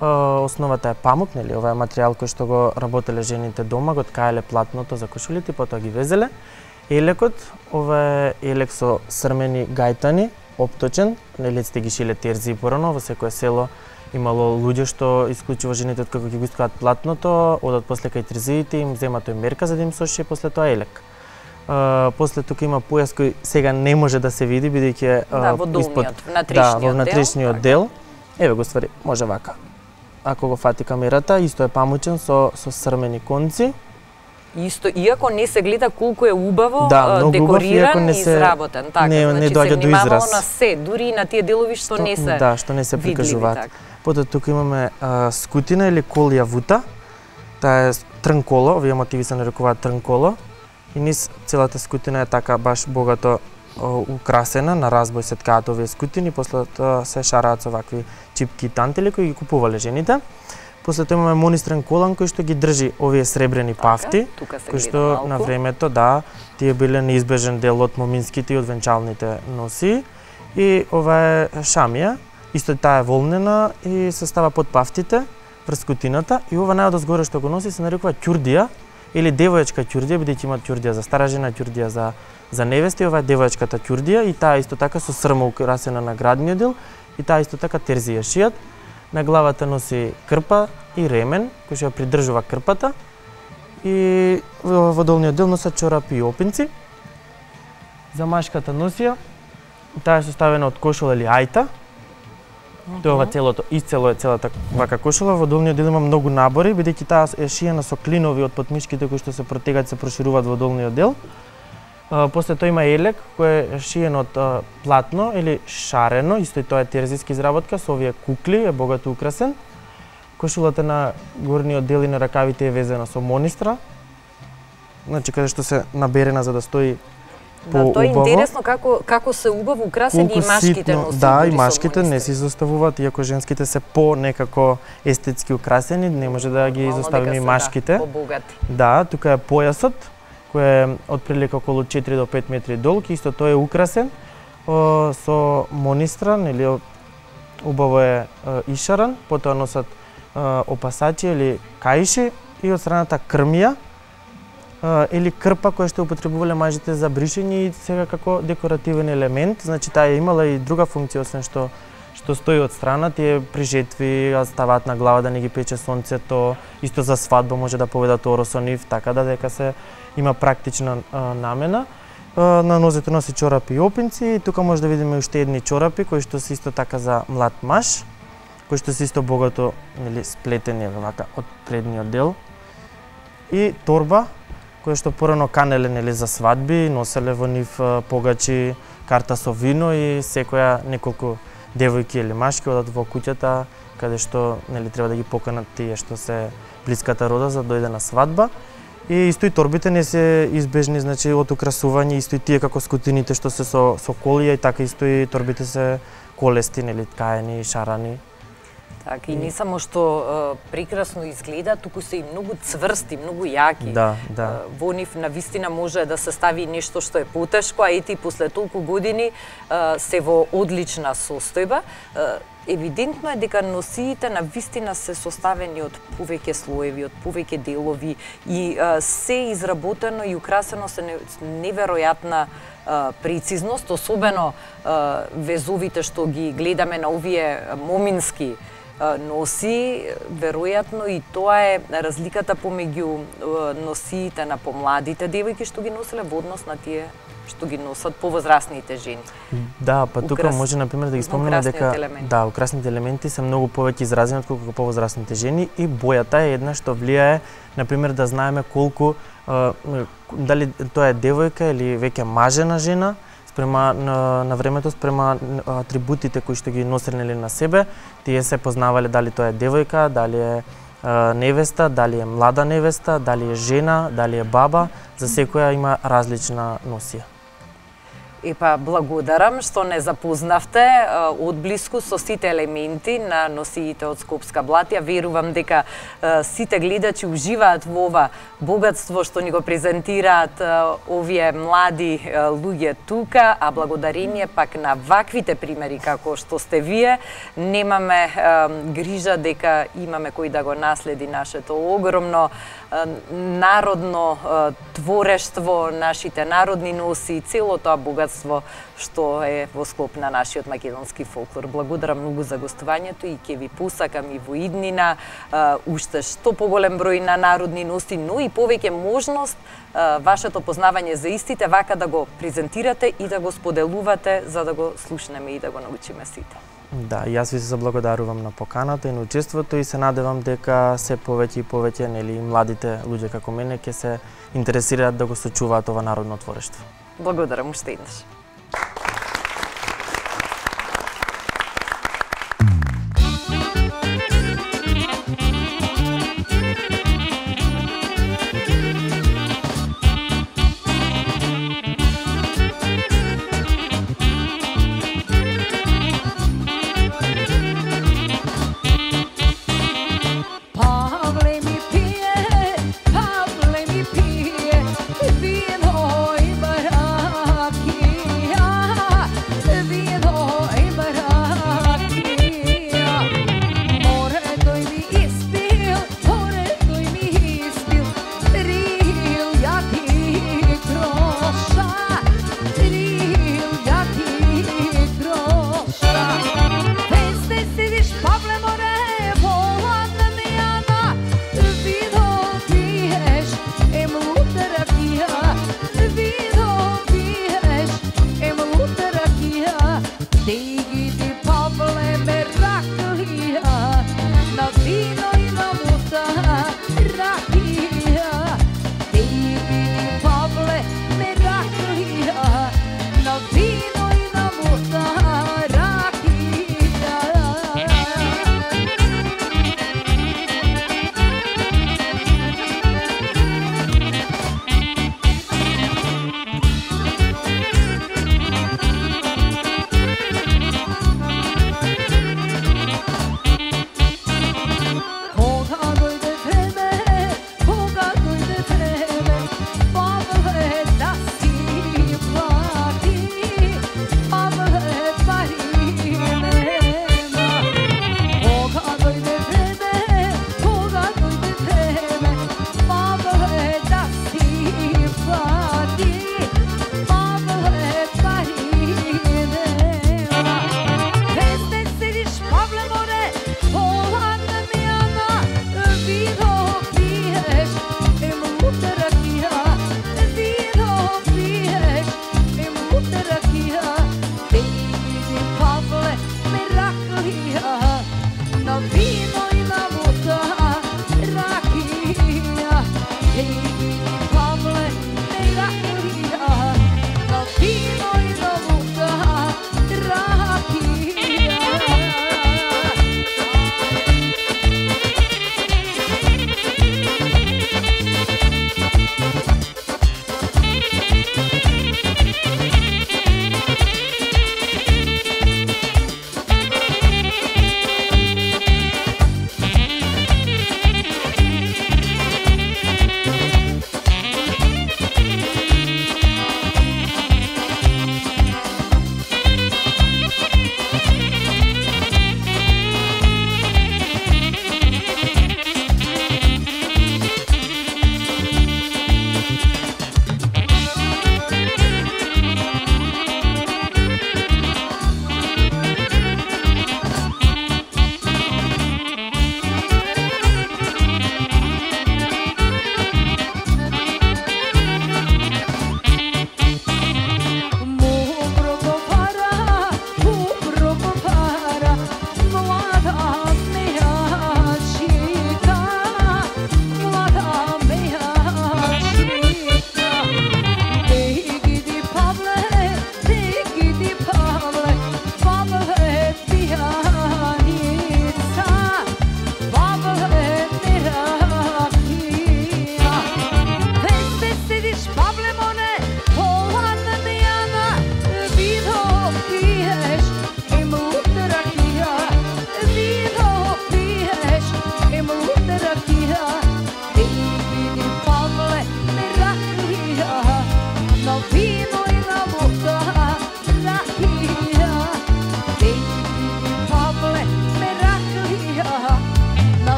Основата е памук, нели, ова е материјал кој што го работеле жените дома, го ткаеле платното за кошулите, потоа ги везеле. Елекот, ова е елек со срмени гајтани, опточен, нели сте ги шиле терзи порано, во секое село имало луѓе што исклучиво жените од како ќе го искаат платното, одат после кај терзиите, им земат тој мерка за да им сошие после тоа елек. Uh, после тука има појас кој сега не може да се види бидејќи uh, да, во долниот, испод, внатрешниот да, во внатрешниот дел. дел. Еве го ствари, може вака. Ако го фати камерата, исто е памучен со со срмени конци. Исто, иако не се гледа колку е убаво да, декориран убав, и се, изработен, така, не, значи не доаѓа се до израз. На се, дури и на тие делови што, што не се да, што не се прикажуваат. Потоа тука имаме а, скутина или колија вута. Таа е трнколо, овие мотиви се нарекуваат трнколо. И низ целата скутина е така баш богато украсена, на разбој се ткаат овие скутини, после тоа се шараат со вакви чипки и тантели кои ги купувале жените. После тоа имаме монистрен колан кој што ги држи овие сребрени пафти, кои што на времето, да, тие биле неизбежен дел од моминските и од венчалните носи. И ова е шамија, исто таа е волнена и се става под пафтите врз скутината. И ова најодозгоре што го носи се нарекува ќурдија или девојачка ќурдија, бидејќи има ќурдија за стара жена, ќурдија за за невести. Ова е девојачката ќурдија и таа исто така со срма украсена на градниот дел и таа исто така терзија шијат. На главата носи крпа и ремен кој што ја придржува крпата и во долниот дел носат чорапи и опинци. За машката носија таа е составена од кошула или ајта. Тоа ова целото, исцело е целата вака кошула. Во долниот дел има многу набори, бидејќи таа е шиена со клинови од подмишките кои што се протегаат, се прошируваат во долниот дел. Uh, после тоа има елек кој е шиен од uh, платно или шарено, исто и тоа е терзијска изработка со овие кукли, е богато украсен. Кошулата на горниот дел и на ракавите е везена со монистра. Значи каде што се наберена за да стои по-убаво. Да, тоа е интересно како како се убаво украсени и машките носат. Да, и машките не се изоставуваат, иако женските се по некако естетски украсени, не може да ги изоставиме и машките. Да, тука е појасот кој е отприлика околу четири до пет метри долг, исто тој е украсен о, со монистран или убаво е о, ишаран, потоа носат о, опасачи или каиши и од страната крмија о, или крпа која што употребувале мажите за бришење и сега како декоративен елемент, значи таа е имала и друга функција освен што што стои од страна, тие при жетви ставаат на глава да не ги пече сонцето, исто за свадба може да поведат оро со нив, така да дека се има практична а, намена. А, на нозете носи чорапи и опинци и тука може да видиме уште едни чорапи кои што се исто така за млад маж, кои што се исто богато, нели, сплетени вака од предниот дел. И торба која што порано канеле, нели, за свадби, носеле во нив а, погачи, карта со вино и секоја неколку девојки или машки одат во куќата каде што, нели, треба да ги поканат тие што се блиската рода за да дојде на свадба. И исто и торбите не се избежни, значи од украсување, исто и тие како скутините што се со со колија и така исто и торбите се колести, нели, ткаени, шарани. Така, и не само што е, прекрасно изгледа, туку се и многу цврсти, многу јаки. Да, да. Е, во нив навистина може да се стави нешто што е потешко, а ети после толку години е, се во одлична состојба. Е, Евидентно е дека носиите на вистина се составени од повеќе слоеви, од повеќе делови и а, се изработено и украсено се неверојатна а, прецизност, особено а, везовите што ги гледаме на овие момински а, носи, веројатно и тоа е разликата помеѓу носиите на помладите девојки што ги носеле во однос на тие што ги носат повозрасните жени. Да, па тука Украс... може, например, да ги спомнеме дека елементи. Да, украсните елементи се многу повеќе изразени отколку повозрасните жени и бојата е една што влијае, например, да знаеме колку а, дали тоа е девојка или веќе мажена жена спрема на, на времето спрема атрибутите кои што ги носеле на себе, тие се познавале дали тоа е девојка, дали е а, невеста, дали е млада невеста, дали е жена, дали е баба, за секоја има различна носија. Епа, благодарам што не запознавте одблиску со сите елементи на носиите од Скопска блатија. Верувам дека а, сите гледачи уживаат во ова богатство што ни го презентираат а, овие млади а, луѓе тука, а благодарение пак на ваквите примери како што сте вие, немаме а, грижа дека имаме кој да го наследи нашето огромно а, народно а, творештво, нашите народни носи, цело тоа богатство што е во склоп на нашиот македонски фолклор. Благодарам многу за гостувањето и ќе ви посакам и во иднина а, уште што поголем број на народни носи, но и повеќе можност а, вашето познавање за истите вака да го презентирате и да го споделувате за да го слушнеме и да го научиме сите. Да, јас ви се заблагодарувам на поканата и на учеството и се надевам дека се повеќе и повеќе, нели, младите луѓе како мене ќе се интересираат да го сочуваат ова народно творештво. Благодарам уште еднаш. Thank you.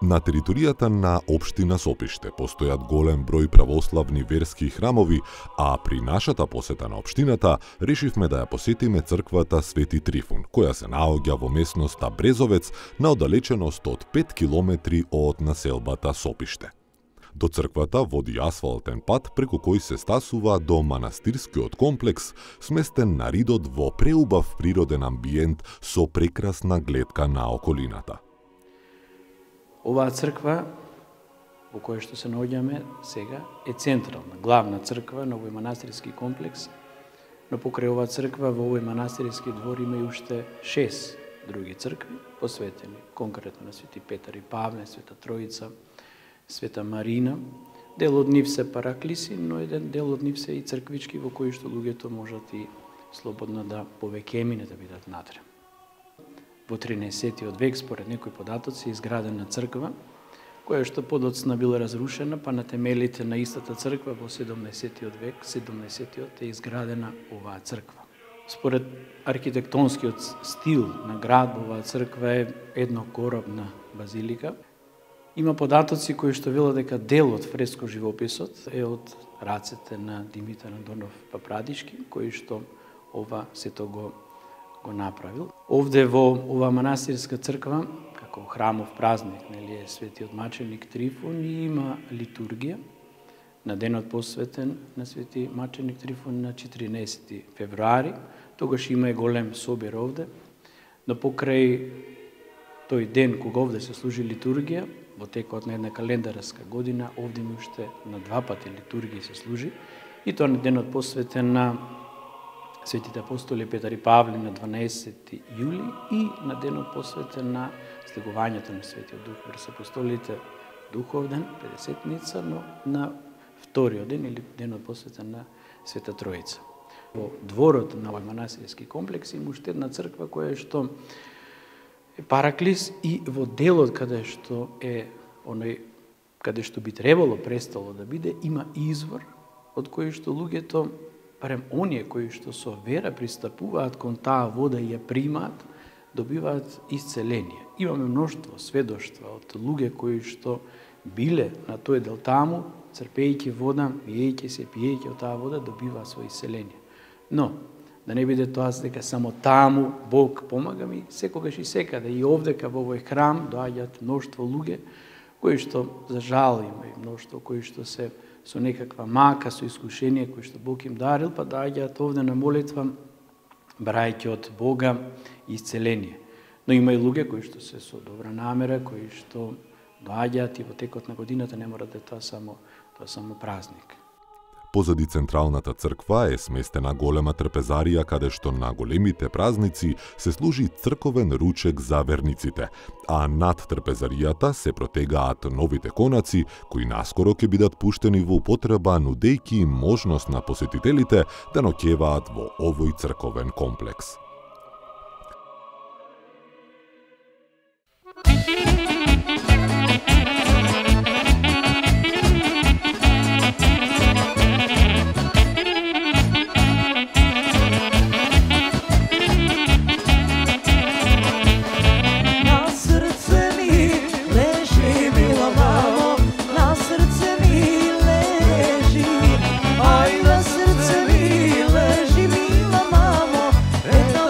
На територијата на општина Сопиште постојат голем број православни верски храмови, а при нашата посета на општината решивме да ја посетиме црквата Свети Трифун, која се наоѓа во местноста Брезовец на оддалеченост од пет километри од населбата Сопиште. До црквата води асфалтен пат преку кој се стасува до манастирскиот комплекс, сместен на ридот во преубав природен амбиент со прекрасна гледка на околината. Оваа црква во која што се наоѓаме сега е централна, главна црква на овој манастирски комплекс, но покрај оваа црква во овој манастирски двор има и уште шест други цркви, посветени конкретно на Свети Петар и Павле, Света Троица, Света Марина. Дел од нив се параклиси, но еден дел од нив се и црквички во кои што луѓето можат и слободно да повеќе да бидат натре. Во тринаесеттиот век, според некои податоци, изградена црква, која што подоцна била разрушена, па на темелите на истата црква во седумнаесеттиот век, седумнаесеттиот е изградена оваа црква. Според архитектонскиот стил на градбова црква е еднокоробна базилика. Има податоци кои што велат дека дел од фреско живописот е од рацете на Димитар Андонов Папрадишки, кој што ова сето го го направил. Овде во ова манастирска црква, како храмов празник, нели е светиот маченик Трифун, и има литургија на денот посветен на свети маченик Трифун на четиринаесети февруари. Тогаш има и голем собир овде, но покрај тој ден кога овде се служи литургија, во текот на една календарска година, овде ми уште на два пати литургија се служи, и тоа на денот посветен на светите апостоли Петар и Павле на дванаесети јули и на денот посветен на слегувањето на Светиот Дух врз апостолите, духовден, педесетница, но на вториот ден или денот посветен на Света Троица. Во дворот на овој манастирски комплекс има уште една црква која што е параклис, и во делот каде што е оној каде што би требало престало да биде, има извор од кој што луѓето, барем оние кои што со вера пристапуваат кон таа вода и ја примаат, добиваат исцеление. Имаме мноштво сведоштва од луѓе кои што биле на тој дел таму, црпејќи вода, пиејќи се, пиејќи од таа вода, добиваат свој исцеление. Но да не биде тоа дека само таму Бог помага ми, секогаш и секаде, и овдека во овој храм доаѓаат мноштво луѓе кои што, за жал, има и мноштво кои што се со некаква мака, со искушение кои што Бог им дарил, па доаѓаат овде на молитва, брајќи од Бога исцеление. Но има и луѓе кои што се со добра намера, кои што доаѓаат и во текот на годината, не мора да е тоа само, тоа само празник. Позади централната црква е сместена голема трпезарија каде што на големите празници се служи црковен ручек за верниците, а над трпезаријата се протегаат новите конаци кои наскоро ќе бидат пуштени во употреба, нудејќи им можност на посетителите да ноќеваат во овој црковен комплекс. Ай, на срце ми лежи, мила мамо, една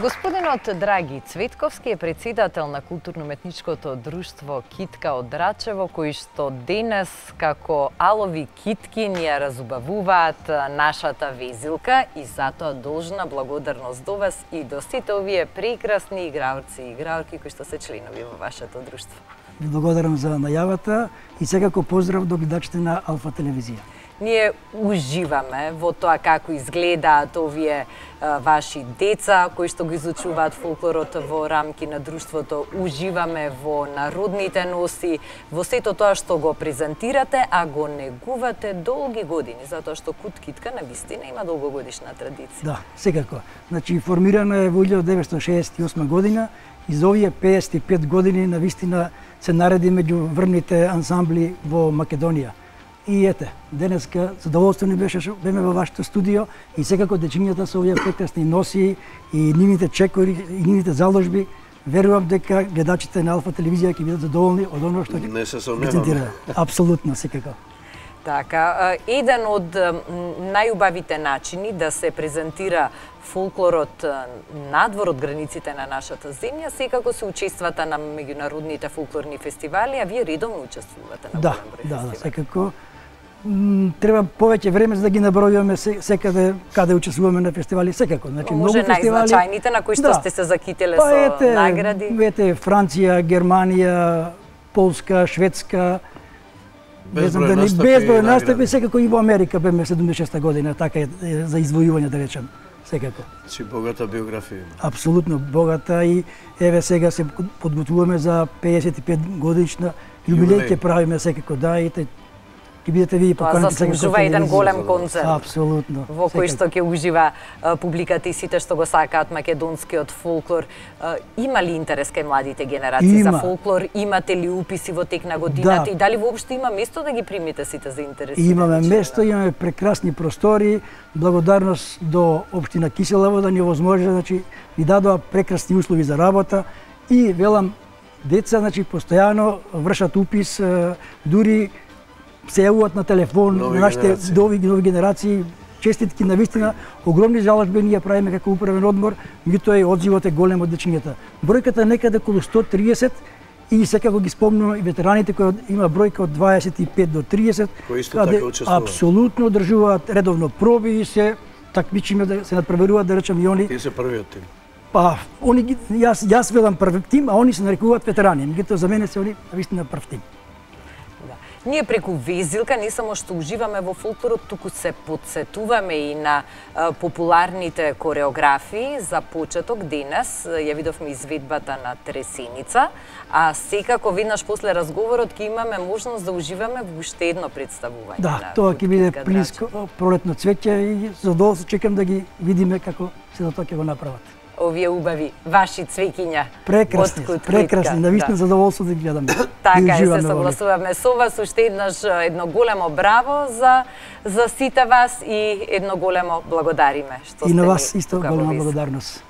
Господинот Драги Цветковски е председател на културно-уметничкото друштво Китка од Драчево, кои што денес како алови китки ни ја разубавуваат нашата везилка и затоа должна благодарност до вас и до сите овие прекрасни играорци и играорки кои што се членови во вашето друштво. Ви благодарам за најавата и секако поздрав до гледачите на Алфа телевизија. Ние уживаме во тоа како изгледаат овие а, ваши деца кои што го изучуваат фолклорот во рамки на друштвото. Уживаме во народните носи, во сето тоа што го презентирате, а го негувате долги години, затоа што Кут Китка навистина има долгогодишна традиција. Да, секако. Значи формирана е во илјадесет деветстотини шеесет и осма година и за овие пеесет и пет години навистина се нареди меѓу врвните ансамбли во Македонија. И ете, денеска задоволство ни беше што беме во вашето студио и секако дечињата со овие прекрасни носи и нивните чекори и нивните заложби. Верувам дека гледачите на Алфа телевизија ќе бидат задоволни од оно што Не се презентира. Апсолутно, секако. Така, еден од најубавите начини да се презентира фолклорот надвор од границите на нашата земја, секако се учествата на меѓународните фолклорни фестивали, а вие редовно учествувате на да, голем број да, фестивали. Да, секако. Треба повеќе време за да ги набројуваме секаде каде учествуваме на фестивали, секако. Значи Може многу фестивали. најзначајните на кои што да. сте се закителе па, со ете, награди? Ете, Франција, Германија, Полска, Шведска, Безброј настапи, безброј и настапи, секако и во Америка беме седумдесет и шеста година, така е за извојување да речем, секако. Значи богата биографија. Апсолутно богата и еве сега се подготвуваме за пеесет и пет годишна јубилеј ќе правиме секако, да, и те ќе бидете ви поканети. Тоа заслужува еден голем концерт. Апсолутно. Во кој што ќе ужива а, публиката и сите што го сакаат македонскиот фолклор. А, има ли интерес кај младите генерации има. за фолклор? Имате ли уписи во тек на годината да. и дали воопшто има место да ги примите сите заинтересирани? Имаме место, имаме прекрасни простори. Благодарност до општина Киселево да ни овозможи, значи ни дадоа прекрасни услови за работа и велам деца, значи постојано вршат упис, дури се јавуваат на телефон нови нашите генерации. нови, нови генерации, честитки навистина, огромни жаложби ние правиме како управен одбор, меѓутоа и одзивот е голем од дечињата. Бројката некаде околу сто и триесет и секако ги спомнувам и ветераните кои има бројка од дваесет и пет до триесет, кои исто така учествуваат. Апсолутно одржуваат редовно проби и се такмичиме да се надпреваруваат, да речем и они. Тие се првиот тим. Па, они ги, јас јас велам прв тим, а они се нарекуваат ветерани. Меѓутоа за мене се они навистина прв тим. Ние преку везилка не само што уживаме во фолклорот, туку се подсетуваме и на а, популарните кореографии. За почеток денес ја видовме изведбата на Тресеница, а секако веднаш после разговорот ќе имаме можност да уживаме во уште едно представување. Да, тоа ќе биде близко пролетно цвеќе и задоволство чекам да ги видиме како се да тоа ќе го направат. Овие убави ваши цвеќиња. Прекрасни, прекрасни, навистина да. Задоволство да ги гледаме. Така е, се согласуваме со вас. Уште еднаш едно големо браво за за сите вас и едно големо благодариме што сте. И на вас исто голема благодарност.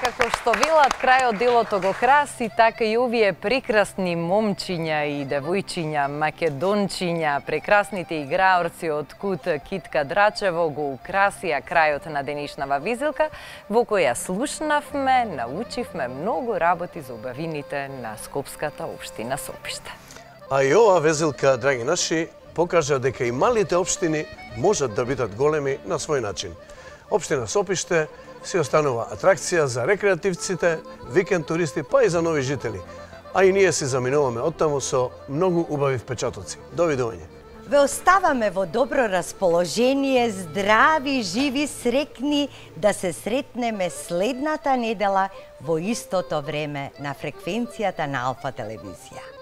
како што велат, крајот делото го краси, така и овие прекрасни момчиња и девојчиња, македончиња, прекрасните играорци од Кут Китка Драчево го украсија крајот на денешнава везелка, во која слушнавме, научивме многу работи за убавините на Скопската општина Сопиште. А и ова везелка, драги наши, покажа дека и малите општини можат да бидат големи на свој начин. Општина Сопиште си останува атракција за рекреативците, викенд туристи, па и за нови жители. А и ние си заминуваме оттаму со многу убави впечатоци. Довидување. Ве оставаме во добро расположение, здрави, живи, срекни, да се сретнеме следната недела во истото време на фреквенцијата на Алфа телевизија.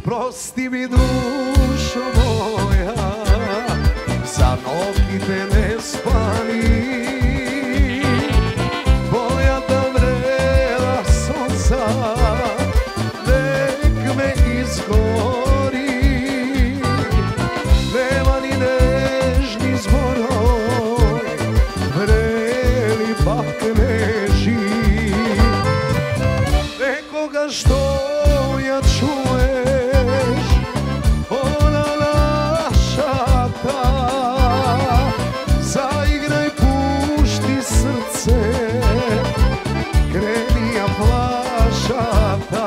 Прости ми, душо моја, за ноќите не спани. Твојата врела сонца нек ме изгори. Нема ни нежни зборој, врели пак нежи. Некогаш што ја чуеш, она нашата, заиграј, пушти срце, крени ја плашата.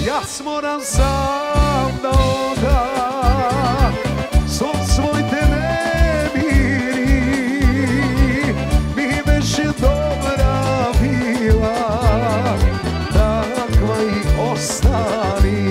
Јас морам сам да одам со своите немири. Ми беше добра била, таква и остани.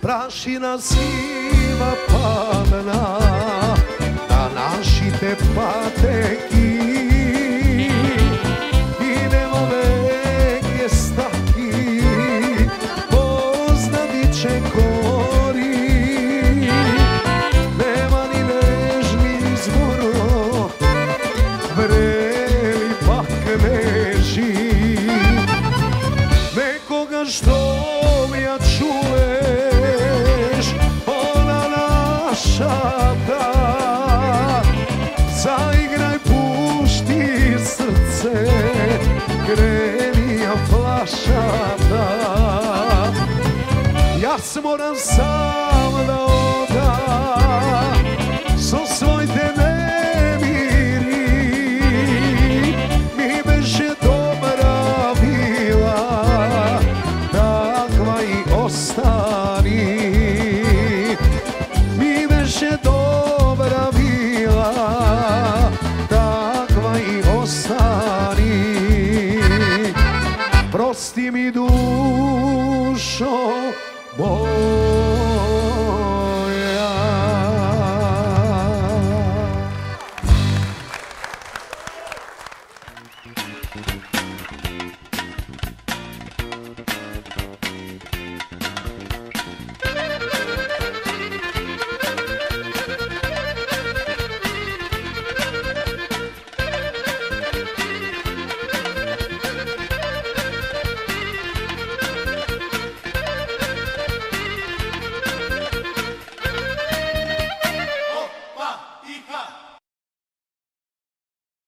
Прашина сива падна на нашите патеки и нема веќе стаки, познати чекори. Нема ни нежни зборот, врели пак нежи. Некогаш што ја чуеш, она нашата, заиграј, пушти срце, крени ја флашата. Јас морам сам да одам со своите немири. Ми беше добра била, таква и остани.